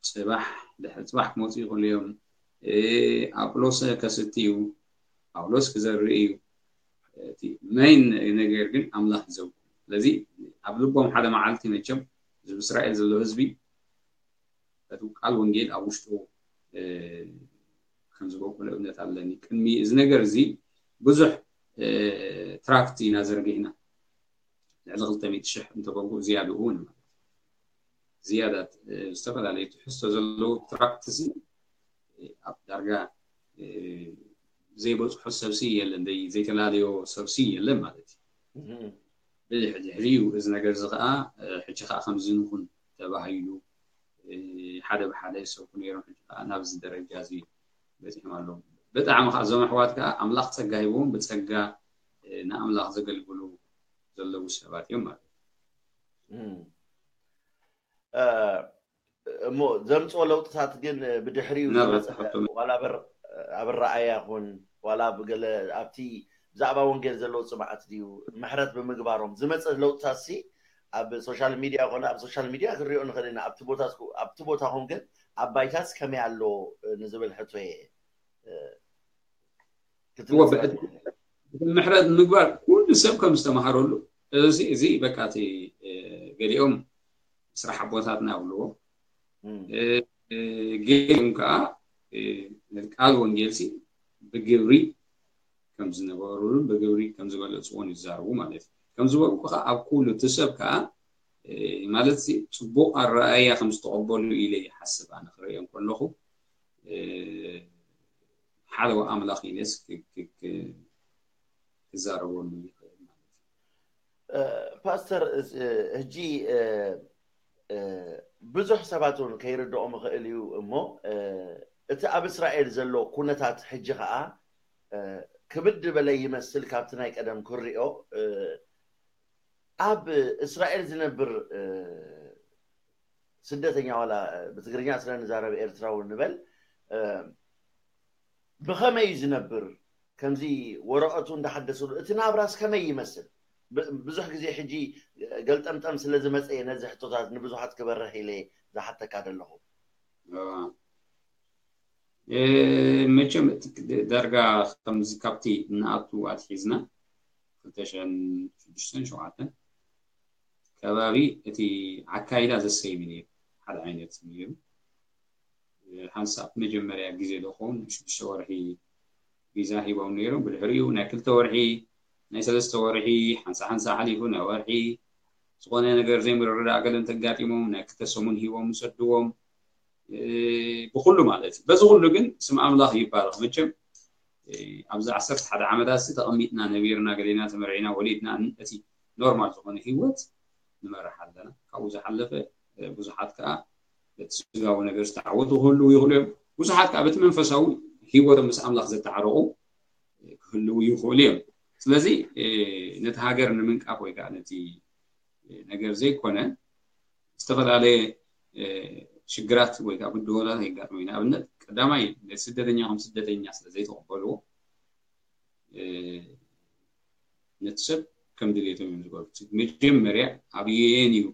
ፅባሕ ድሕሪ ፅባሕ ክመፁ ይኽእሉ እዮም። ኣጵሎስ ከስቲ እዩ፣ ጳውሎስ ክዘርእ እዩ። እቲ መይን ነገር ግን ኣምላኽ ይዘውር። ስለዚ ኣብ ልቦም ሓደ መዓልቲ መቸም እዚ እስራኤል ዘሎ ህዝቢ እቲ ቃል ወንጌል ኣብ ውሽጡ ከም ዝበቁለ እምነት ኣለኒ። ቅድሚ እዚ ነገር እዚ ብዙሕ ትራክት ኢና ዘርጊሕና፣ ልዕሊ ክልተ ሚእቲ ሽሕ እንተበልኩ ዝያድኡ እውን ማለት ዝያዳ ዝተፈላለዩ ትሕዝቶ ዘለዎ ትራክት እዚ ኣብ ዳርጋ ዘይበፅሖ ሰብሲ የለን፣ ዘይተላለዮ ሰብሲ የለን ማለት እዩ። ብድሕሪኡ እዚ ነገር እዚ ከዓ ሕጂ ከዓ ከምዚ ንኹን ተባሂሉ ሓደ ብሓደ ይሰብኩ ነይሮም። ሕጂ ከዓ ናብዚ ደረጃ እዚ በፂሖም ኣለዉ። ብጣዕሚ ከዓ እዞም ኣሕዋት ከዓ ኣምላኽ ፀጋ ሂቦም ብፀጋ ንኣምላኽ ዘገልግሉ ዘለዉ ሰባት እዮም ማለት እዩ። እሞ ዘምፅኦ ለውጥታት ግን ብድሕሪኡ ዝመፀ ዋላ ኣብ ኣረኣያ ይኹን ዋላ ብገለ ኣብቲ ብዛዕባ ወንጌል ዘለዎ ፅምዓት ድዩ ምሕረት ብምግባሮም ዝመፀ ለውጥታት ሲ ኣብ ሶሻል ሚድያ ኮነ ኣብ ሶሻል ሚድያ ክንሪኦ ንኽእል ኢና። ኣብቲ ቦታኹም ግን ኣብ ባይታስ ከመይ ኣሎ ንዝብል ሕቶ እየ። ምሕረት ምግባር ኩሉ ሰብ ከም ዝተምሃረሉ እዚ በቃ እቲ ገሊኦም ስራሕ ኣቦታትና ይብልዎ፣ ገሊኦም ከዓ ቃል ወንጌልሲ ብግብሪ ከም ዝነበሩሉን ብግብሪ ከም ዝበለፅዎን ይዛረቡ ማለት እዩ። ከም ዝበልኩ ከዓ ኣብ ኩሉ እቲ ሰብ ከዓ ማለት ፅቡቅ ኣረኣያ ከም ዝተቀበሉ ኢለ ይሓስብ። ኣነ ክርእዮ ከለኹ ሓደ ኣምላኽ ኢለስ ክዛረበሉ ይኽእል ማለት እዩ። ፓስተር፣ ሕጂ ብዙሕ ሰባት እውን ከይርድኦም ይኽእል እዩ እሞ እቲ ኣብ እስራኤል ዘሎ ኩነታት ሕጂ ከዓ ክብድ በለ ይመስል ካብቲ ናይ ቀደም ክሪኦ። ኣብ እስራኤል ዝነብር ስደተኛ ዋላ ብትግርኛ ስለ ንዛረብ ኤርትራዊ ንበል ብኸመይ እዩ ዝነብር? ከምዚ ወረቐቱ እንዳሓደሰሉ እቲ ናብራስ ከመይ ይመስል? ብዙሕ ግዜ ሕጂ ገልጠምጠም ስለ ዝመፀ እየ ነዚ ሕቶታት ንብዙሓት ክበርህ ኢለ ዝሓተካ ዘለኹ። መቸም ዳርጋ ከምዚ ካብቲ ንኣቱ ኣትሒዝና ክልተ ሽሕን ሽዱሽተን ሸውዓተን ከባቢ እቲ ኣካይዳ ዘሰይም ነይሩ፣ ሓደ ዓይነት ነይሩ። ሓንሳብ መጀመርያ ግዜ ዶ ኸውን ሽዱሽተ ወርሒ ቪዛ ሂቦም ነይሮም። ብድሕሪኡ ናይ ክልተ ወርሒ፣ ናይ ሰለስተ ወርሒ፣ ሓንሳ ሓንሳ ሓሊፉ ናይ ወርሒ ዝኾነ ነገር ዘይምርድዳእ ገለ እንተጋጢሞም ናይ ክልተ ሰሙን ሂቦም ይሰድዎም። ብኩሉ ማለት እዩ። በዚ ኩሉ ግን ስም ኣምላኽ ይባረኽ። መቸም ኣብዚ ዓሰርተ ሓደ ዓመታት ሲ ተቐሚጥና ነቢርና ገሌና ተመርዒና ወሊድና እቲ ኖርማል ዝኾነ ህይወት ንመርሕ ኣለና። ካብኡ ዝሓለፈ ብዙሓት ከዓ በቲ ስጋዊ ነገር ዝተዓወቱ ክህልዉ ይኽእሉ እዮም። ብዙሓት ከዓ በቲ መንፈሳዊ ህይወቶም ምስ ኣምላኽ ዘተዓረቑ ክህልዉ ይኽእሉ እዮም። ስለዚ ነቲ ሃገር ንምንቃፍ ወይ ከዓ ነቲ ነገር ዘይኮነ ዝተፈላለየ ሽግራት ወይ ከዓ ብድሆታት የጋጥሙ እዩ። ንኣብነት ቀዳማይ ነቲ ስደተኛ ከም ስደተኛ ስለ ዘይተቐበልዎ ነቲ ሰብ ከም ድሌቶም እዮም ዝገብሩ። መጀመርያ ኣብ ዩኤን እዩ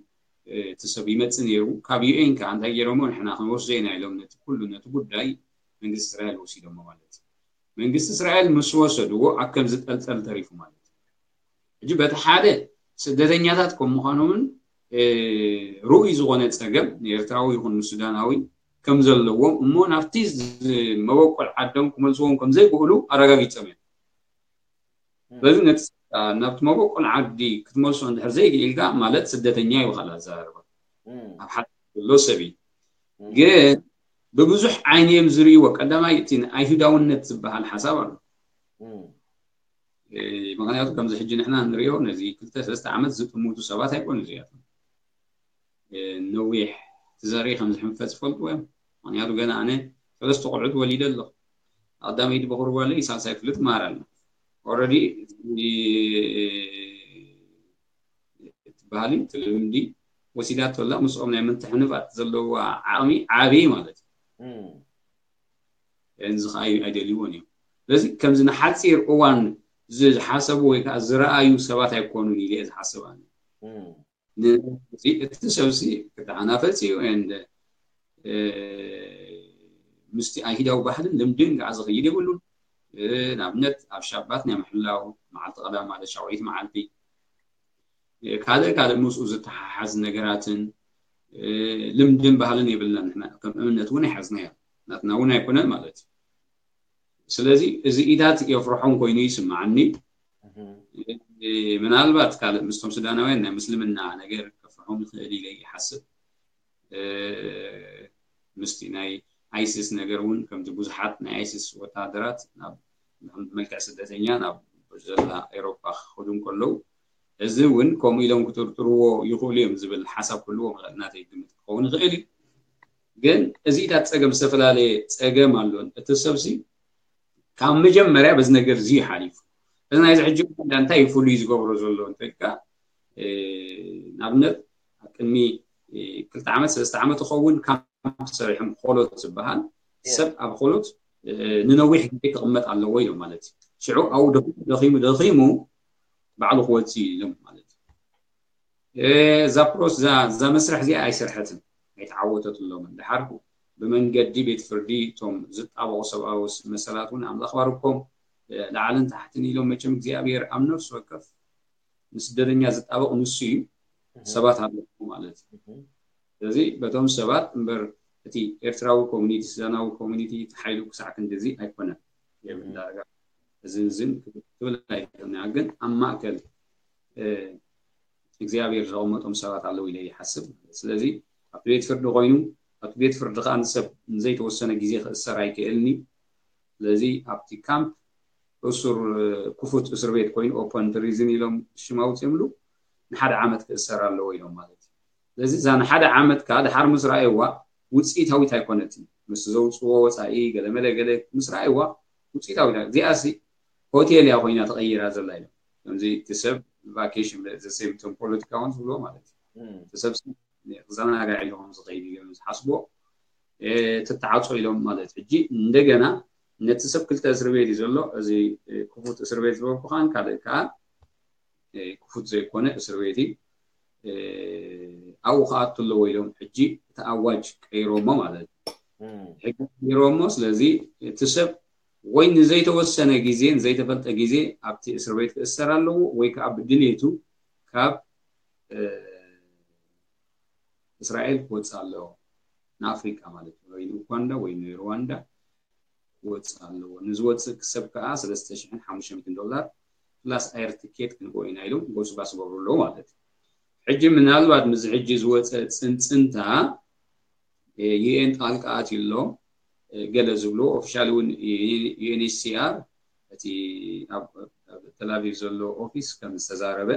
እቲ ሰብ ይመፅእ ነይሩ። ካብ ዩኤን ከዓ እንታይ ገይሮሞ ንሕና ክንወስዶ ኢና ኢሎም ነቲ ኩሉ ነቲ ጉዳይ መንግስቲ እስራኤል ወሲዶሞ ማለት እዩ። መንግስቲ እስራኤል ምስ ወሰድዎ ኣብ ከም ዝጠልጠል ተሪፉ ማለት እዩ። ሕጂ በቲ ሓደ ስደተኛታት ከም ምዃኖምን ርኡይ ዝኾነ ፀገም ንኤርትራዊ ይኹን ንሱዳናዊ ከም ዘለዎም እሞ ናብቲ መበቆል ዓዶም ክመልስዎም ከም ዘይክእሉ ኣረጋጊፆም እዮም። ስለዚ ነቲ ናብቲ መበቆል ዓዲ ክትመልሶ እንድሕር ዘይክኢልካ ማለት ስደተኛ ይበሃል ኣዘራርባ ኣብ ሓደ ዘሎ ሰብ እዩ። ግን ብብዙሕ ዓይኒ እዮም ዝርእይዎ። ቀዳማይ እቲ ኣይሁዳውነት ዝበሃል ሓሳብ ኣሎ። ምክንያቱ ከምዚ ሕጂ ንሕና ንሪኦ ነዚ ክልተ ሰለስተ ዓመት ዝጥምቱ ሰባት ኣይኮኑ እዚኣቶም። ነዊሕ እቲ ዘርኢ ከም ዝሕንፈፅ ይፈልጥዎ እዮም። ምክንያቱ ገና ኣነ ሰለስተ ቆልዑት ወሊደ ኣለኹ። ቀዳመይቲ በኹሪ ጓለይ ሳልሳይ ክፍሊ ትመሃር ኣላ። ኦረዲ እቲ ባህሊ እቲ ልምዲ ወሲዳቶ ኣላ። ምስኦም ናይ ምትሕንፋጥ ዘለዋ ዓቕሚ ዓብዪ ማለት እዩ። እዚ ከዓ ኣይደልይዎን እዮም። ስለዚ ከምዚ ንሓፂር እዋን ዝሓሰቡ ወይ ከዓ ዝረኣዩ ሰባት ኣይኮኑን ኢለ እየ ዝሓስብ ኣነ። እቲ ሰብሲ ክተሓናፈፅ እዩ። ምስቲ ኣይሁዳዊ ባህልን ልምድን ከዓ ዝኽይድ የብሉን። ንኣብነት ኣብ ሻባት ናይ ምሕላው መዓልቲ ቀዳም ማለት ሻውዒት መዓልቲ፣ ካልእ ካልእ ምስኡ ዝተሓሓዝ ነገራትን ልምድን ባህልን የብልና። ንሕና ከም እምነት እውን ኣይሓዝናዮ፣ ናትና እውን ኣይኮነን ማለት እዩ። ስለዚ እዚ ኢታት የፍርሖም ኮይኑ ይስምዓኒ። ምናልባት ካልእ ምስቶም ሱዳናውያን ናይ ምስልምና ነገር ከፍርሖም ይኽእል ኢለ ይሓስብ። ምስቲ ናይ ኣይሲስ ነገር እውን ከምቲ ብዙሓት ናይ ኣይሲስ ወታደራት ናብ መልክዕ ስደተኛ ናብ ዘላ ኤሮፓ ክኸዱ እንከለዉ፣ እዚ እውን ከምኡ ኢሎም ክጥርጥርዎ ይኽእሉ እዮም ዝብል ሓሳብ ክህልዎም ይኽእል፣ ናተይ ግምት ክኸውን ይኽእል እዩ። ግን እዚታት ፀገም ዝተፈላለየ ፀገም ኣሎን። እቲ ሰብሲ ካብ መጀመርያ በዚ ነገር እዚ ሓሊፉ። እዚ ናይዚ ሕጂ እንታይ እዩ ፍሉይ ዝገብሮ ዘሎ እንተልካ፣ ንኣብነት ኣብ ቅድሚ ክልተ ዓመት ሰለስተ ዓመት ይኸውን ካምፕ ሰሪሖም፣ ኮሎት ዝበሃል ሰብ ኣብ ኮሎት ንነዊሕ ግዜ ክቕመጥ ኣለዎ ኢሎም ማለት እዩ። ሽዑ ኣብኡ ደኺሙ ደኺሙ ደኺሙ ባዕሉ ክወፅእ እዩ ኢሎም ማለት እዩ። እዛ ፕሮስ እዛ መስርሕ እዚኣ ኣይሰርሐትን፣ ኣይተዓወተትሎምን። ድሓር ብመንገዲ ቤት ፍርዲ እቶም ዝጣበቑ ሰብኣዊ መሰላት እውን ኣምላኽ ባርኮም ላዕልን ታሕትን ኢሎም፣ መቸም እግዚኣብሔር ኣብ ነፍሲ ወከፍ ንስደተኛ ዝጣበቕ ንሱ እዩ፣ ሰባት ኣለዉ ማለት እዩ። ስለዚ በቶም ሰባት እምበር እቲ ኤርትራዊ ኮሚኒቲ፣ ሱዳናዊ ኮሚኒቲ ሓይሉ ክሳዕ ክንድዚ ኣይኮነን። የብላ ዳርጋ እዝን ዝን ክትብል ኣይትኽእልን። ግን ኣብ ማእከል እግዚኣብሔር ዘቐመጦም ሰባት ኣለዉ ኢለ ይሓስብ። ስለዚ ኣብቲ ቤት ፍርዲ ኮይኑ፣ ኣብቲ ቤት ፍርዲ ከዓ ንሰብ ንዘይተወሰነ ግዜ ክእሰር ኣይክእልን እዩ። ስለዚ ኣብቲ ካምፕ እሱር ክፉት እስር ቤት ኮይኑ ኦፐን ፕሪዝን ኢሎም ሽም ኣውፅኦምሉ ንሓደ ዓመት ክእሰር ኣለዎ ኢሎም ማለት እዩ። ስለዚ እዛ ንሓደ ዓመት ከዓ ድሓር ምስ ረኣይዋ ውፅኢታዊት ኣይኮነትን። ምስ ዘውፅዎ ወፃኢ ገለመለ ገለ ምስ ረኣይዋ ውፅኢታዊት እያ። እዚኣሲ ሆቴል እያ ኮይና ተቐይራ ዘላ ኢሎም። ከምዚ እቲ ሰብ ቫኬሽን ዘሴምቶም ፖለቲካውን ዝብልዎ ማለት እዩ። እቲ ሰብ ክዘናጋዕ ኢሎም ዝኸይድ ኢሎም ዝሓስብዎ ትተዓፆ ኢሎም ማለት ሕጂ እንደገና ነቲ ሰብ ክልተ እስር ቤት እዩ ዘሎ። እዚ ክፉት እስር ቤት ዝበልኩ ከዓ ካልእ ከዓ ክፉት ዘይኮነ እስር ቤት እዩ። ኣብኡ ክኣቱ ኣለዎ ኢሎም ሕጂ እቲ ኣዋጅ ቀይሮሞ ማለት እዩ። ሕጊ ቀይሮሞ። ስለዚ እቲ ሰብ ወይ ንዘይተወሰነ ግዜ ንዘይተፈልጠ ግዜ ኣብቲ እስር ቤት ክእሰር ኣለዎ ወይ ከዓ ብድሌቱ ካብ እስራኤል ክወፅእ ኣለዎ፣ ንኣፍሪቃ ማለት እዩ። ወይ ንኡኳንዳ ወይ ንሩዋንዳ ክወፅእ ኣለዎ። ንዝወፅእ ሰብ ከዓ ሰለስተ ሽሕን ሓሙሽተ ሚእትን ዶላር ፕላስ ኣየር ትኬት ክንቦ ኢና ኢሎም ጎስባስ ገብሩ ኣለዉ ማለት እዩ። ሕጂ ምናልባት ምዚ ሕጂ ዝወፀ ፅንፅንታ ዩኤን ጣልቃ ኣትዩ ኣሎ ገለ ዝብሉ ኦፊሻል እውን ዩኤንኤችሲኣር እቲ ኣብ ተላቪቭ ዘሎ ኦፊስ ከም ዝተዛረበ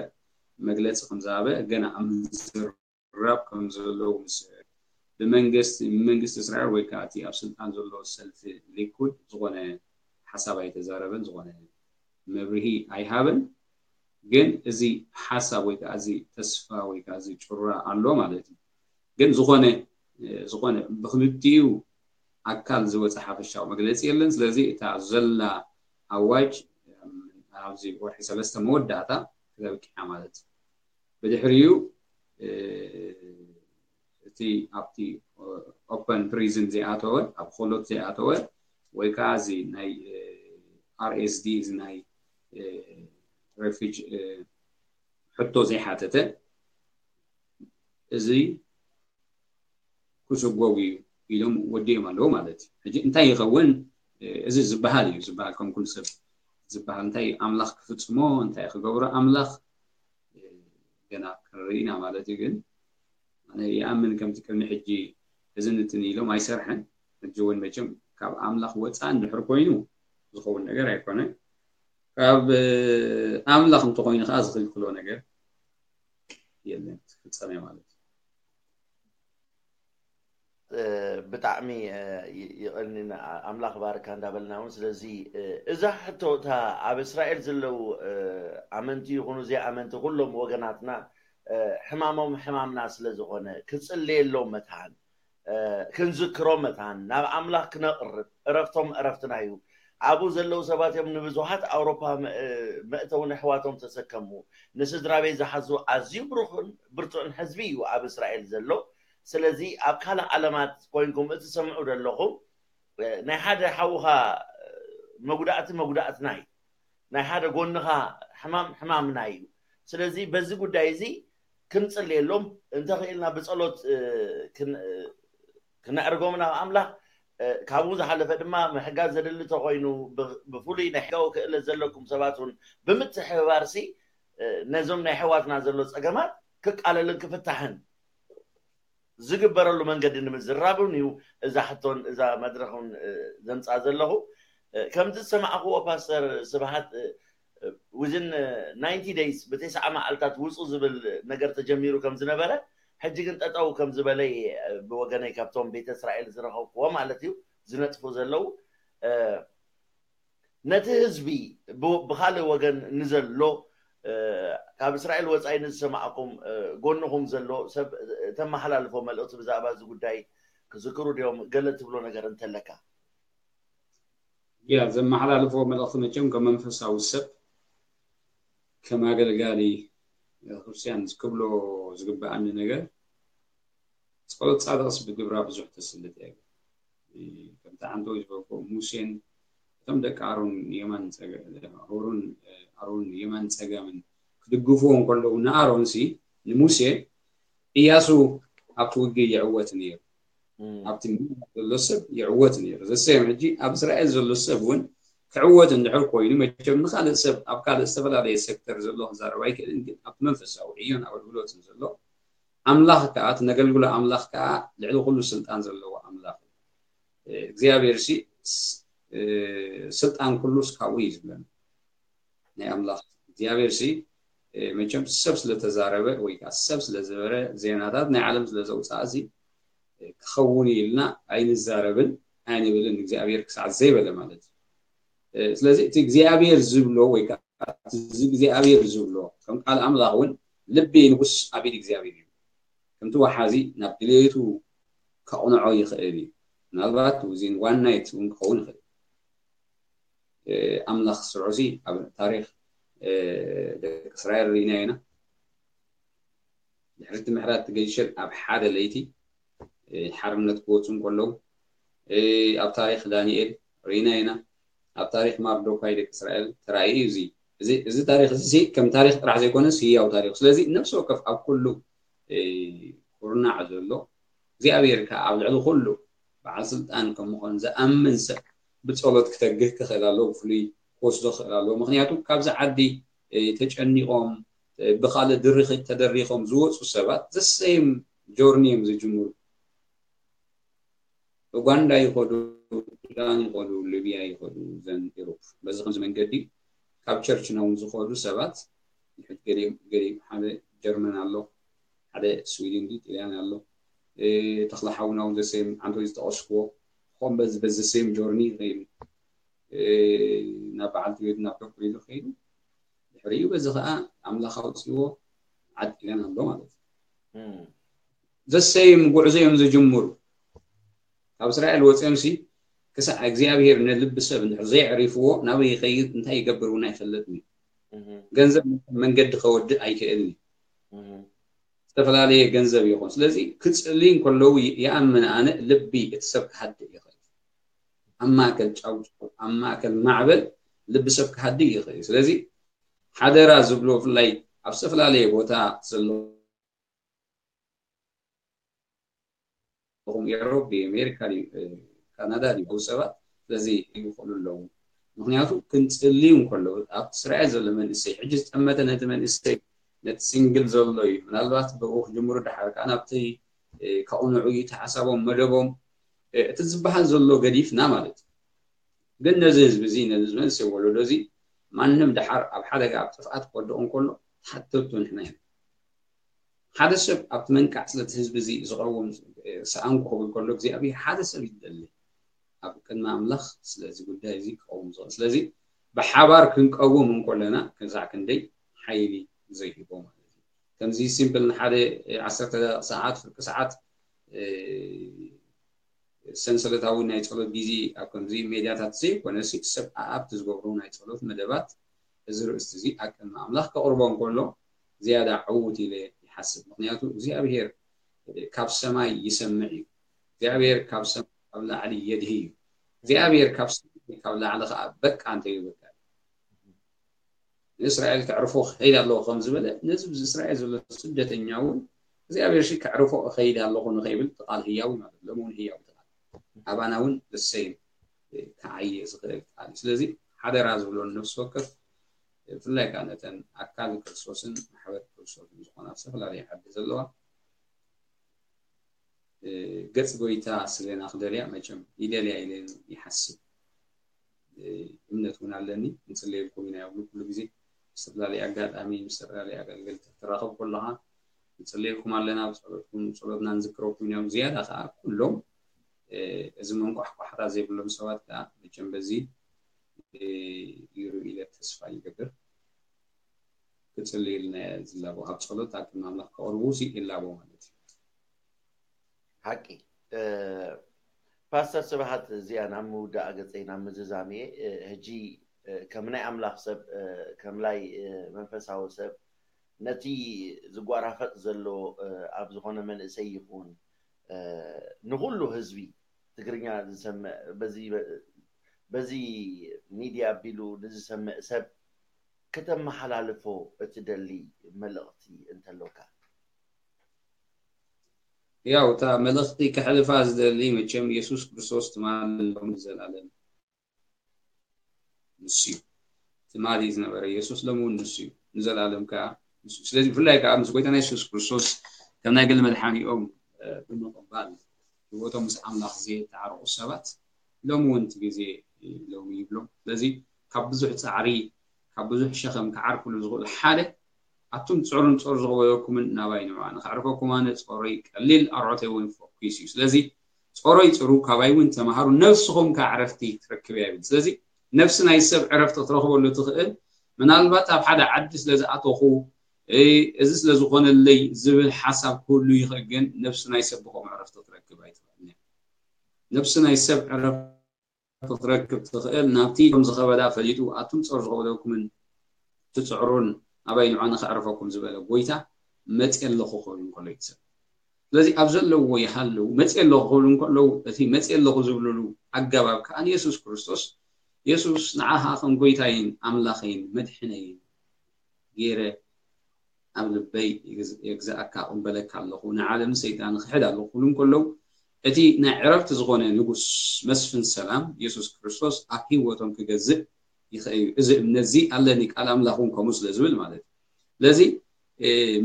መግለፂ ከም ዝሃበ ገና ኣብ ምዝራብ ከም ዘለዉ ምስ ብመንግስቲ መንግስቲ እስራኤል ወይ ከዓ እቲ ኣብ ስልጣን ዘሎ ሰልፊ ሊኩድ ዝኾነ ሓሳብ ኣይተዛረበን፣ ዝኾነ መብርሂ ኣይሃበን። ግን እዚ ሓሳብ ወይ ከዓ እዚ ተስፋ ወይ ከዓ እዚ ጩራ ኣሎ ማለት እዩ። ግን ዝኾነ ዝኾነ ብክልቲኡ ኣካል ዝወፀ ሓፈሻዊ መግለፂ የለን። ስለዚ እታ ዘላ ኣዋጅ ኣብዚ ወርሒ ሰለስተ መወዳእታ ክተብቅዓ ማለት እዩ። ብድሕሪኡ እቲ ኣብቲ ኦፐን ፕሪዝን ዘይኣተወ ኣብ ኮሎት ዘይኣተወ ወይ ከዓ እዚ ናይ ኣርኤስዲ እዚ ናይ ሬፊጅ ሕቶ ዘይሓተተ እዚ ክስጎግ እዩ ኢሎም ወዲኦም ኣለዉ ማለት እዩ። ሕጂ እንታይ ይኸውን? እዚ ዝበሃል እዩ ዝበሃል ከም ኩሉ ሰብ ዝበሃል እንታይ ኣምላኽ ክፍጽሞ እንታይ ክገብሮ ኣምላኽ ገና ክንርኢ ኢና ማለት እዩ። ግን ኣነ ይኣምን ከምቲ ቅድሚ ሕጂ እዝን እትን ኢሎም ኣይሰርሐን። ሕጂ እውን መቸም ካብ ኣምላኽ ወፃእ እንድሕር ኮይኑ ዝኸውን ነገር ኣይኮነን። ካብ ኣምላኽ እንተኮይኑ ከዓ ዝኽልክሎ ነገር የለን፣ ትፍፀመ ማለት እዩ። ብጣዕሚ ይቐኒ ኣምላኽ ባርካ እንዳበልና እውን ስለዚ እዛ ሕቶ እታ ኣብ እስራኤል ዘለዉ ኣመንቲ ይኹኑ ዘይኣመንቲ ኩሎም ወገናትና ሕማሞም ሕማምና ስለ ዝኾነ፣ ክጽለየሎም መታን፣ ክንዝክሮ መታን፣ ናብ ኣምላኽ ክነቕርብ፣ ዕረፍቶም ዕረፍትና እዩ። ኣብኡ ዘለዉ ሰባት እዮም ንብዙሓት ኣውሮፓ መእተዊ ነሕዋቶም ተሰከሙ። ንስድራ ቤት ዝሓዙ ኣዝዩ ብሩኽን ብርቱዕን ሕዝቢ እዩ ኣብ እስራኤል ዘሎ። ስለዚ ኣብ ካልእ ዓለማት ኮይንኩም እትሰምዑ ዘለኹም፣ ናይ ሓደ ሓውኻ መጉዳእቲ መጉዳእትና እዩ። ናይ ሓደ ጎንኻ ሕማም ሕማምና እዩ። ስለዚ በዚ ጉዳይ እዚ ክንጽልየሎም እንተኽኢልና ብጸሎት ክነዕርጎም ናብ ኣምላኽ። ካብኡ ዝሓለፈ ድማ ምሕጋዝ ዘድሊ ተኾይኑ ብፍሉይ ናይ ሕጋዊ ክእለት ዘለኩም ሰባት እውን ብምትሕብባርሲ ነዞም ናይ ኣሕዋትና ዘሎ ጸገማት ክቃለልን ክፍታሕን ዝግበረሉ መንገዲ ንምዝራብ እውን እዩ እዛ ሕቶን እዛ መድረኽን ዘምፅኣ ዘለኹ። ከምቲ ዝሰማዕክዎ ፓስተር ስብሓት፣ within ninety days፣ ብተስዓ መዓልታት ውፁ ዝብል ነገር ተጀሚሩ ከም ዝነበረ፣ ሕጂ ግን ጠጠው ከም ዝበለ እየ ብወገነይ ካብቶም ቤተ እስራኤል ዝረኸብክዎ ማለት እዩ ዝነጥፉ ዘለዉ። ነቲ ህዝቢ ብካልእ ወገን ንዘሎ፣ ካብ እስራኤል ወፃኢ ንዝሰማዕኩም፣ ጎንኹም ዘሎ ሰብ ተመሓላልፎ መልእኽቲ ብዛዕባ እዚ ጉዳይ ክዝክሩ ድዮም? ገለ ትብሎ ነገር እንተለካ። ያ ዘመሓላልፎ መልእኽቲ መቸም ከም መንፈሳዊ ሰብ፣ ከም ኣገልጋሊ ክርስቲያን ክብሎ ዝግበኣኒ ነገር፣ ጸሎት ጻድቕስ ብግብራ ብዙሕ ተስልጥ እያ። ከምቲ ሓንቲ ዝበልኩ ሙሴን እቶም ደቂ ኣሮን የማን ጸገ- ኣሮን ኣሮን የማን ጸጋምን ክድግፍዎ እንከለዉ ንኣሮን ሲ ንሙሴ እያሱ ኣብቲ ውግእ ይዕወት ነይሩ። ኣብቲ ምድር ዘሎ ሰብ ይዕወት ነይሩ። ዘሰዮም ሕጂ ኣብ እስራኤል ዘሎ ሰብ እውን ክዕወት እንድሕር ኮይኑ መቸም ንካልእ ሰብ ኣብ ካልእ ዝተፈላለየ ሴክተር ዘሎ ክዛረብ ኣይክእልን፣ ግን ኣብቲ መንፈሳዊ ዕዮን ኣገልግሎትን ዘሎ ኣምላኽ ከዓ እቲ ነገልግሎ ኣምላኽ ከዓ ልዕሊ ኩሉ ስልጣን ዘለዎ ኣምላኽ እዩ። እግዚኣብሔር ሲ ስልጣን ኩሉስ ካብኡ እዩ ዝብለና። ናይ ኣምላኽ እግዚኣብሔር ሲ መቸም ሰብ ስለተዛረበ ወይ ከዓ ሰብ ስለዝበረ ዜናታት ናይ ዓለም ስለዘውፅኣ እዚ ክኸውን ኢልና ኣይንዛረብን ኣይንብልን እግዚኣብሔር ክሳዕ ዘይበለ ማለት እዩ። ስለዚ እቲ እግዚኣብሔር ዝብሎ ወይ ከዓ እዚ እግዚኣብሔር ዝብሎ ከም ቃል ኣምላኽ እውን ልቢ ንጉስ ኣብ ኢድ እግዚኣብሔር እዩ። ከምቲ ወሓዚ ናብ ድሌቱ ከቕንዖ ይኽእል እዩ። ምናልባት within one night እውን ክኸውን ይኽእል። ኣምላኽ ስርዑ ሲ ኣብ ታሪኽ ደቂ እስራኤል ርኢና ኢና። ድሕሪ እቲ ምሕረት ገይሸል ኣብ ሓደ ለይቲ ሓርነት ክወፁ እንከለዉ ኣብ ታሪኽ ዳንኤል ርኢና ኢና። ኣብ ታሪኽ ማርዶካይ ደቂ እስራኤል ተራእዩ እዩ። እዚ እዚ ታሪኽ እዚ ከም ታሪኽ ጥራሕ ዘይኮነስ ህያው ታሪኽ። ስለዚ ነፍሲ ወከፍ ኣብ ኩሉ ኩርናዕ ዘሎ እግዚኣብሔር ከዓ ኣብ ልዕሊ ኩሉ በዓል ስልጣን ከም ምዃኑ ዝኣምን ሰብ ብጸሎት ክተግህ ክኽእል ኣለዎ። ብፍሉይ ክወስዶ ክኽእል ኣለዎ። ምክንያቱ ካብዚ ዓዲ ተጨኒቖም ብካልእ ድርኺት ተደሪኾም ዝወፁ ሰባት ዘሰይም ጆርኒ እዮም ዝጅምሩ። ኡጋንዳ ይኸዱ፣ ሱዳን ይኸዱ፣ ሊብያ ይኸዱ፣ ዘን ኢሮፕ በዚ ከምዚ መንገዲ ካብ ቸርች ነው ዝኸዱ ሰባት ንሕድ ገሊኦም ገሊኦም ሓደ ጀርመን ኣሎ፣ ሓደ ስዊድን ዲ ጥልያን ኣሎ። ተኽለ ሓውና እውን ዘሰም ዓንቶ ዝጠቐስክዎ ኾም በዚ በዚ ሰም ጆርኒ ይኸይዱ ናብ በዓልቲ ቤት ናብ ዶክተር ይኸይዱ። ድሕሪኡ በዚ ከዓ ኣምላኽ ኣውፅዎ ዓድ ጥልያን ኣሎ ማለት እዩ። ዘሰይም ጉዕዞ እዮም ዝጅምሩ። ካብ እስራኤል ወፅዮም ሲ ክሳዕ እግዚኣብሔር ንልቢ ሰብ እንድሕር ዘየዕሪፍዎ ናበይ ይኸይድ እንታይ ይገብር እውን ኣይፈልጥን እዩ። ገንዘብ መንገዲ ከወድእ ኣይክእልን እዩ። ዝተፈላለየ ገንዘብ ይኹን። ስለዚ ክፅሊ እንከለዉ ይኣምን ኣነ ልቢ እቲ ሰብ ክሃድእ ይኽእል። ኣብ ማእከል ጫውጫው ኣብ ማእከል ማዕበል ልቢ ሰብ ክሃድእ ይኽእል። ስለዚ ሓደራ ዝብሎ ብፍላይ ኣብ ዝተፈላለየ ቦታ ዘሎ ኹም ኤሮፕ ድዩ ኣሜሪካ ድዩ ካናዳ ድዩ ሰባት ስለዚ ይኽእሉ ኣለዉ። ምክንያቱ ክንፅልዩ እንከለዉ ኣብቲ እስራኤል ዘሎ መንእሰይ ሕጂ ዝጠመተ ነቲ መንእሰይ ነቲ ሲንግል ዘሎ እዩ ምናልባት ብኡ ክጅምሩ ድሓር ከዓ ናብቲ ከቕንዑ እዩ እቲ ሓሳቦም መደቦም እቲ ዝበሃል ዘሎ ገዲፍና ማለት እዩ። ግን ነዚ ህዝቢ እዚ ነዚ መንእሰይ ወለዶ እዚ ማንም ድሓር ኣብ ሓደጋ ኣብ ጥፍኣት ክወድቕ እንከሎ ተሓተቱ ንሕና ኢና። ሓደ ሰብ ኣብቲ መንቃዕ ስለቲ ህዝቢ እዚ ዝቐውም ሰኣንኩ ክብል ከሎ እግዚኣብሔር ሓደ ሰብ ይደሊ ኣብ ቅድሚ ኣምላኽ ስለዚ ጉዳይ እዚ ክቐውም ዝኽእል። ስለዚ ብሓባር ክንቀውም እንከለና ክሳዕ ክንደይ ሓይሊ ዘይህቦ ማለት እዩ። ከምዚ ሲምፕል ንሓደ ዓሰርተ ደቂቕ ሰዓት ፍርቂ ሰዓት ሰንሰለታዊ ናይ ጸሎት ግዜ ኣብ ከምዚ ሜድያታት ዘይኮነ ሲ ሰብ ኣኣፕት ዝገብሩ ናይ ጸሎት መደባት እዚ ርእስቲ እዚ ኣብ ቅድሚ ኣምላኽ ከቕርቦ እንከሎ ዝያዳ ዕዉት ኢለ ይሓስብ። ምክንያቱ እግዚኣብሔር ካብ ሰማይ ይሰምዕ እዩ። እግዚኣብሔር ካብ ሰማይ ካብ ላዕሊ የድሂ እዩ። እግዚኣብሔር ካብ ሰማይ ካብ ላዕሊ ከዓ በቃ እንተይበቃ ንእስራኤል ከዕርፎ ክኸይድ ኣለዎ ከም ዝበለ ነዚ እስራኤል ዘሎ ስደተኛ እውን እግዚኣብሔር ሲ ከዕርፎ እኸይድ ኣለኹ ንኸይብል ቃል ህያዊ ማለት ሎም እውን ህያዊ ቃል ኣባና እውን ደሰይም ክዓየ ዝኽእል ቃል እዩ። ስለዚ ሓደራ ዝብሎ ነፍሲ ወከፍ ብፍላይ ከዓ ነተን ኣካል ክርስቶስን ማሕበር ክርስቶስን ዝኾና ኣብ ዝተፈላለዩ ዓዲ ዘለዋ ገጽ ጎይታ ስለና ክደልያ መቸም ይደልያ ኢለ ይሓስብ። እምነት እውን ኣለኒ። ንጽልየልኩም ኢና ይብሉ ኩሉ ግዜ ዝተፈላለየ ኣጋጣሚ ምስ ዝተፈላለየ ኣገልገልቲ ክትራኸብ ከለኻ ንጽልየልኩም ኣለና ብጸሎትኩም ጸሎትና ንዝክረኩም ኢና ዝያዳ ከዓ ኩሎም እዚ መንቋሕቋሕታ ዘይብሎም ሰባት ከዓ መቸም በዚ ይሩ ኢለ ተስፋ ይገብር። ክጽልይልና ዝላቦ ኣብ ጸሎት ኣብ ቅድሚ ኣምላኽ ከቕርቡ ሲ ይላቦ ማለት እዩ። ሓቂ ፓስተር ስብሃት እዚኣ ናብ ምውዳእ ገፀይ ናብ ምዝዛም እየ ሕጂ ከም ናይ ኣምላኽ ሰብ ከም ናይ መንፈሳዊ ሰብ ነቲ ዝጓራፈጥ ዘሎ ኣብ ዝኾነ መንእሰይ ይኹን ንኩሉ ህዝቢ ትግርኛ ዝሰምዕ በዚ ሚድያ ኣቢሉ ንዝሰምዕ ሰብ ከተመሓላልፎ እትደሊ መልእኽቲ እንተሎካ? ያው እታ መልእኽቲ ከሕልፋ ዝደሊ መቸም የሱስ ክርስቶስ ትማሊ ሎሚ ንዘላለም ንሱ እዩ። ትማሊ ዝነበረ የሱስ ሎሚ እውን ንሱ እዩ። ንዘላለም ከዓ ንሱ እዩ። ስለዚ ብፍላይ ከዓ ምስ ጎይታና የሱስ ክርስቶስ ከም ናይ ግሊ መድሓኒኦም ብምቕባል ህይወቶም ምስ ኣምላኽ ዘየተዓረቑ ሰባት ሎም እውን እቲ ግዜ ሎም ይብሎም ስለዚ ካብ ብዙሕ ፃዕሪ ካብ ብዙሕ ሸኸም ክዓርፍሉ ዝኽእሉ ሓደ ኣቱም ትፅዕሩን ፆር ዝኸበደኩምን ናባይ ንዑ ኣነ ከዕርፈኩም ኣነ ፆረይ ቀሊል ኣርዖተይ እውን ፈኩስ እዩ ስለዚ ፆረይ ፅሩ ካባይ እውን ተምሃሩ ነብስኹም ከዓ ዕረፍቲ ትረክብ እያ ይብል ስለዚ ነብሲ ናይ ሰብ ዕረፍቲ ክትረኽበሉ ትኽእል ምናልባት ኣብ ሓደ ዓዲ ስለ ዝኣተኹ እዚ ስለ ዝኾነለይ ዝብል ሓሳብ ክህሉ ይኽእል ግን ነብሲ ናይ ሰብ ብኸምኡ ዕረፍቲ ክትረክብ ኣይትኽእልን እያ ነብሲ ናይ ሰብ ዕረፍቲ ክትረክብ ትኽእል ናብቲ ከም ዝኸበዳ ፈሊጡ ኣቱም ጾር ዝኸበደኩምን ትጽዕሩን ኣባይ ንዑ ኣነ ከዕርፈኩም ዝበለ ጎይታ መጽእ ኣለኹ ክብል እንከሎ እዩ ሰብ ስለዚ ኣብ ዘለዎ ይሃልው መጽእ ኣለኹ ክብል እንከለዉ እቲ መጽእ ኣለኹ ዝብልሉ ኣገባብ ከዓ ንየሱስ ክርስቶስ የሱስ ንዓኻ ከም ጎይታይን ኣምላኸይን መድሕነይን ገይረ ኣብ ልበይ የግዝኣካ እቕበለካ ኣለኹ ንዓለም ሰይጣን ክሕድ ኣለኹ ክብሉ እንከለዉ እቲ ናይ ዕረፍቲ ዝኾነ ንጉስ መስፍን ሰላም የሱስ ክርስቶስ ኣብ ህይወቶም ክገዝእ ይኽእል እዩ እዚ እምነት እዚ ኣለኒ ቃል ኣምላኽ እውን ከምኡ ስለ ዝብል ማለት እዩ ስለዚ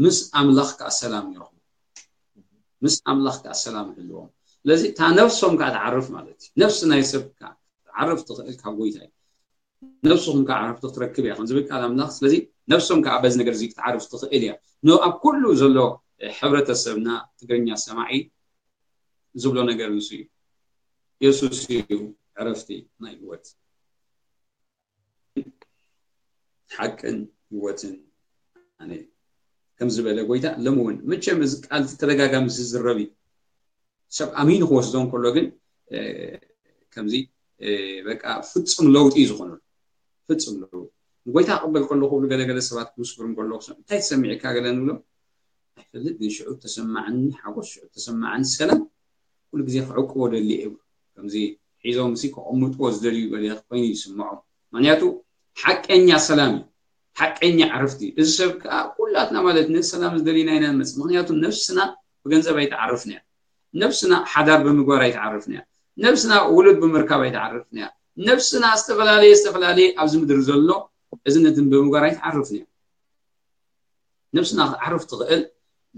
ምስ ኣምላኽ ከዓ ሰላም ይረኽቡ ምስ ኣምላኽ ከዓ ሰላም ይህልዎም ስለዚ እታ ነፍሶም ከዓ ትዓርፍ ማለት እዩ ነፍሲ ናይ ሰብ ከዓ ትዓርፍ ትኽእል ካብ ጎይታ እዩ ነብስኹም ከዓ ዕረፍቲ ክትረክብ እያ ዝብል ቃል ኣምላኽ ስለዚ ነብሶም ከዓ በዚ ነገር እዚ ክትዓርፍ ትኽእል እያ ን ኣብ ኩሉ ዘሎ ሕብረተሰብና ትግርኛ ሰማዒ ዝብሎ ነገር ንሱ እዩ የሱስ እዩ ዕረፍቲ ናይ ህይወት ሓቅን ህይወትን ኣነ ከም ዝበለ ጎይታ ሎም እውን መቸም እዚ ቃል ተደጋጋሚ ዝዝረብ እዩ ሰብ ኣሚኑ ክወስዶ እንከሎ ግን ከምዚ በቃ ፍጹም ለውጢ እዩ ዝኾነሉ ፍጹም ለውጢ ንጎይታ ክቕበል ከሎ ክብሉ ገለገለ ሰባት ክምስክሩ እንከሎ እንታይ ትሰሚዕካ ገለ ንብሎ ኣይፈልጥ ግን ሽዑ ተሰማዕኒ ሓጎስ ሽዑ ተሰማዕኒ ሰላም ኩሉ ግዜ ክዕቅቦ ደሊ እዩ ከምዚ ሒዞም ሲ ክቕምጥዎ ዝደልዩ ገለ ኮይኑ ይስምዖም ምክንያቱ ሓቀኛ ሰላም እዩ ሓቀኛ ዕረፍቲ እዩ እዚ ሰብ ከዓ ኩላትና ማለት ነዚ ሰላም ዝደሊና ኢና ንመፅእ ምክንያቱ ነብስና ብገንዘብ ኣይትዓርፍን እያ ነብስና ሓዳር ብምግባር ኣይትዓርፍን እያ ነብስና ውሉድ ብምርካብ ኣይትዓርፍን እያ ነብስና ዝተፈላለየ ዝተፈላለየ ኣብዚ ምድሪ ዘሎ እዚ ነትን ብምግባር ኣይትዓርፍን እያ ነብስና ክትዓርፍ ትኽእል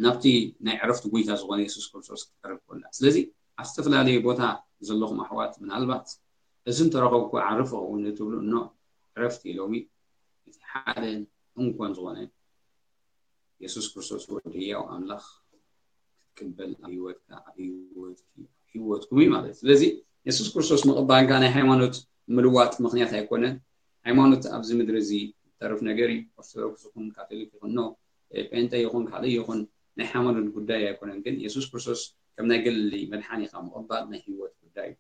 ናብቲ ናይ ዕረፍቲ ጎይታ ዝኾነ የሱስ ክርስቶስ ክትቀርብ ከላ ስለዚ ኣብ ዝተፈላለየ ቦታ ዘለኹም ኣሕዋት ምናልባት እዚ እንተረኸብኩ ዓርፍ ኸውን እትብሉ እኖ ዕረፍቲ ሎሚ እቲ ሓደን እንኮን ዝኾነ የሱስ ክርስቶስ ወዲ ህያው ኣምላኽ ክትቅበል ኣብ ህይወትካ ኣብ ህይወትኩም እዩ ማለት እዩ ስለዚ የሱስ ክርስቶስ ምቕባል ከዓ ናይ ሃይማኖት ምልዋጥ ምኽንያት ኣይኮነን ሃይማኖት ኣብዚ ምድሪ እዚ ተርፍ ነገር እዩ ኦርቶዶክስ ይኹን ካቶሊክ ይኹን ኖ እ፣ ጴንጠ ይኹን ካልእ ይኹን ናይ ሃይማኖት ጉዳይ ኣይኮነን። ግን የሱስ ክርስቶስ ከም ናይ ገሊ መድሓኒ ኢኻ ምቕባል ናይ ህይወት ጉዳይ እዩ።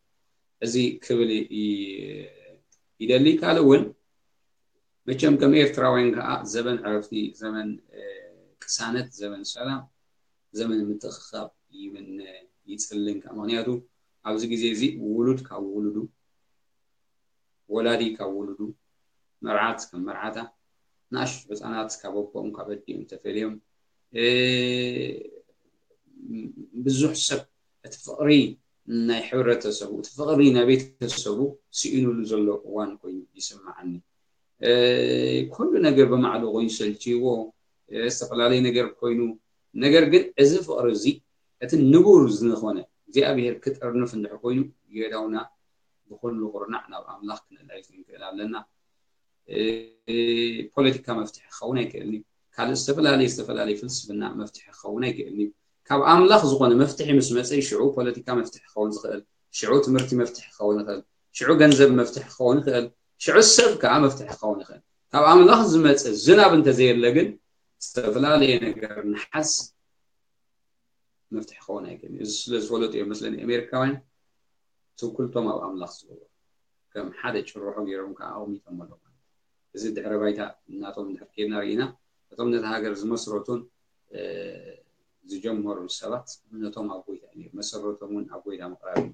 እዚ ክብል ይ-፣ ይደሊ። ካልእ እውን መቸም ከም ኤርትራውያን ከዓ ዘበን ዕረፍቲ፣ ዘመን፣ እ፣ ቅሳነት፣ ዘመን ሰላም፣ ዘመን ምትእኽኻብ ይምነ፣ ይጽልን ከዓ። ምኽንያቱ ኣብዚ ግዜ እዚ ውሉድ ካብ ውሉዱ፣ ወላዲ ካብ ውሉዱ፣ መርዓት ካብ መርዓታ፣ ንኣሽቱ ህፃናት ካብ ኣቦኦም ካብ ኣዲኦም ተፈልዮም፣ እ፣ ብዙሕ ሰብ እቲ ፍቕሪ ናይ ሕብረተሰቡ፣ እቲ ፍቕሪ ናይ ቤተሰቡ ስኢኑሉ ዘሎ እዋን ኮይኑ ይስምዓኒ። እ፣ ኩሉ ነገር ብማዕዶ ኮይኑ ሰልችይዎ፣ እ፣ ዝተፈላለየ ነገር ኮይኑ፣ ነገር ግን እዚ ፍቕሪ እዚ እቲ ንቡር ዝኾነ እግዚኣብሔር ክጥርንፍ እንድሕር ኮይኑ፣ የእዳውና ብኹሉ ኩርናዕ ናብ ኣምላኽ ክነልዕል ክንክእል ኣለና። እ፣ ፖለቲካ መፍትሒ ክኸውን ኣይክእልን እዩ። ካልእ ዝተፈላለየ፣ ዝተፈላለየ ፍልስፍና መፍትሒ ክኸውን ኣይክእልን እዩ። ካብ ኣምላኽ ዝኾነ መፍትሒ ምስ መጸ፣ ሽዑ ፖለቲካ መፍትሒ ክኸውን ዝኽእል፣ ሽዑ ትምህርቲ መፍትሒ ክኸውን ይኽእል፣ ሽዑ ገንዘብ መፍትሒ ክኸውን ይኽእል፣ ሽዑ ሰብ ከዓ መፍትሒ ክኸውን ይኽእል። ካብ ኣምላኽ ዝመጸ ዝናብ እንተዘየለ ግን ዝተፈላለየ ነገር ንሓስ መፍትሒ ክኸውን ኣይክእልን እዩ። እዚ ስለ ዝፈለጡ እዮም መስለኒ ኣሜሪካውያን ትውክልቶም ኣብ ኣምላኽ ዝገብሩ። ከም ሓደ ጭርሖ ገይሮም ከዓ ኣቕሚጦም ኣለዉ ማለት እዩ። እዚ ድሕረ ባይታ እናቶም እንድሕር ከይድና ርኢና፣ እቶም ነታ ሃገር ዝመስረቱን፣ እ፣ ዝጀመሩ ሰባት እምነቶም ኣብ ጎይታ እዩ ነይሩ። መሰረቶም እውን ኣብ ጎይታ ምቕራብ እዩ።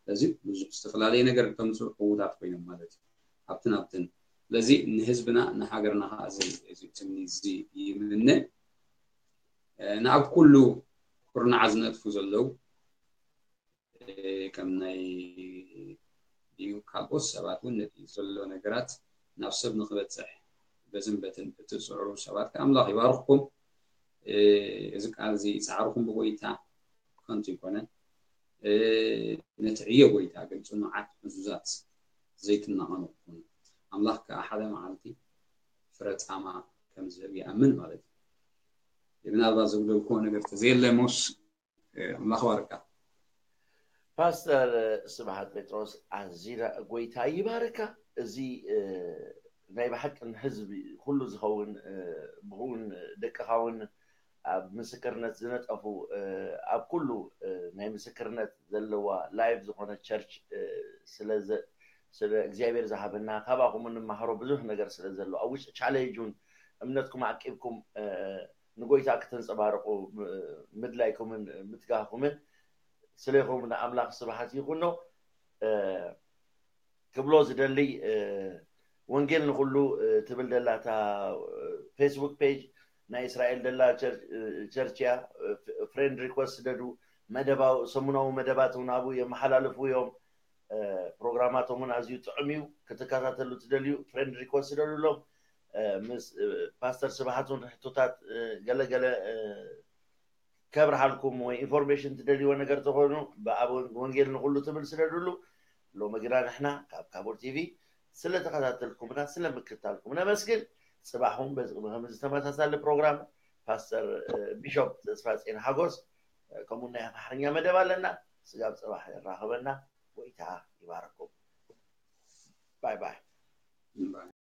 ስለዚ ብዙሕ ዝተፈላለየ ነገር እተምፅኡ ዕዉታት ኮይኖም ማለት እዩ። ኣብትን ኣብትን። ስለዚ ንህዝብና ንሃገርና ከዓ እዚ፣ እዚ ትምኒት እዚ ይምነ። እ፣ ንኣብ ኩሉ ኩርናዓ ዝነጥፉ ዘለዉ፣ እ፣ ከም ናይ ድዩ ካልኦት ሰባት እውን ነቲ ዘሎ ነገራት ናብ ሰብ ንክበፅሕ በዝን በትን እትፅዕሩ ሰባት ከኣ ኣምላኽ ይባርኽኩም። እ፣ እዚ ቃል እዚ ጻዕርኹም ብጎይታ ከንቱ ኣይኮነን። እ፣ ነቲ ዕዮ ጎይታ ግን ጽኑዓት ዕዙዛት ዘይትናቐኑ ኩኑ። ኣምላኽ ከኣ ሓደ መዓልቲ ፍረ ጻማ ከም ዝህብ ይኣምን ማለት እዩ። ምናልባት ዘጉደልክዎ ነገር ተዘየለ ሞስ፣ እ፣ ኣምላኽ ባርካ። ፓስተር ስብሓት ጴጥሮስ፣ ኣዚና ጎይታ ይባርካ። እዚ፣ እ፣ ናይ ብሓቂ ንህዝቢ ኩሉ ዝኸውን፣ እ፣ ብእውን ደቅኻ እውን ኣብ ምስክርነት ዝነጠፉ፣ እ፣ ኣብ ኩሉ፣ እ፣ ናይ ምስክርነት ዘለዋ ላይቭ ዝኾነ ቸርች፣ እ፣ ስለ ዘ-፣ ስለ እግዚኣብሔር ዝሃበና፣ ካባኹም እንመሃሮ ብዙሕ ነገር ስለ ዘሎ፣ ኣብ ውሽጢ ቻሌንጅ እውን እምነትኩም ዓቂብኩም፣ እ፣ ንጎይታ ክተንጸባርቑ፣ እ፣ ምድላይኩምን ምትጋህኩምን ስለይኹም ንኣምላኽ ስብሓት ይኹኖ። እ፣ ክብሎ ዝደሊ፣ እ፣ ወንጌል ንኹሉ፣ እ፣ ትብል ደላ እታ፣ እ፣ ፌስቡክ ፔጅ ናይ እስራኤል ደላ ቸር-፣ እ፣ ቸርች እያ። እ፣ ፍ-፣ ፍሬንድ ሪኮስት ስደዱ። መደባዊ፣ ሰሙናዊ መደባት እውን ኣብኡ የመሓላልፉ እዮም። እ፣ ፕሮግራማቶም እውን ኣዝዩ ጥዑም እዩ። ክትከታተሉ ትደልዩ ፍሬንድ ሪኮስት ስደዱሎም። እ፣ ምስ፣ እ፣ ፓስተር ስብሓት እውን ሕቶታት፣ እ፣ ገለ ገለ፣ እ፣ ከብርሃልኩም ወይ ኢንፎርሜሽን ትደልይዎ ነገር ተኾይኑ ብኣብ ወንጌል ንኹሉ ትብል ስደዱሉ። ሎሚ ግና ንሕና ካብ ካቦር ቲቪ ስለተኸታተልኩምና ስለምክታልኩም ነመስግን። ጽባሕ እውን በዚ ቅድሚ ከምዚ ተመሳሳሊ ፕሮግራም ፓስተር፣ እ፣ ቢሾፕ ተስፋጽዮን ሓጎስ፣ እ፣ ከምኡ ናይ ኣምሓርኛ መደብ ኣለና። ስጋብ ጽባሕ የራኽበና። ጎይታ ይባረኩም። ባይ ባይ።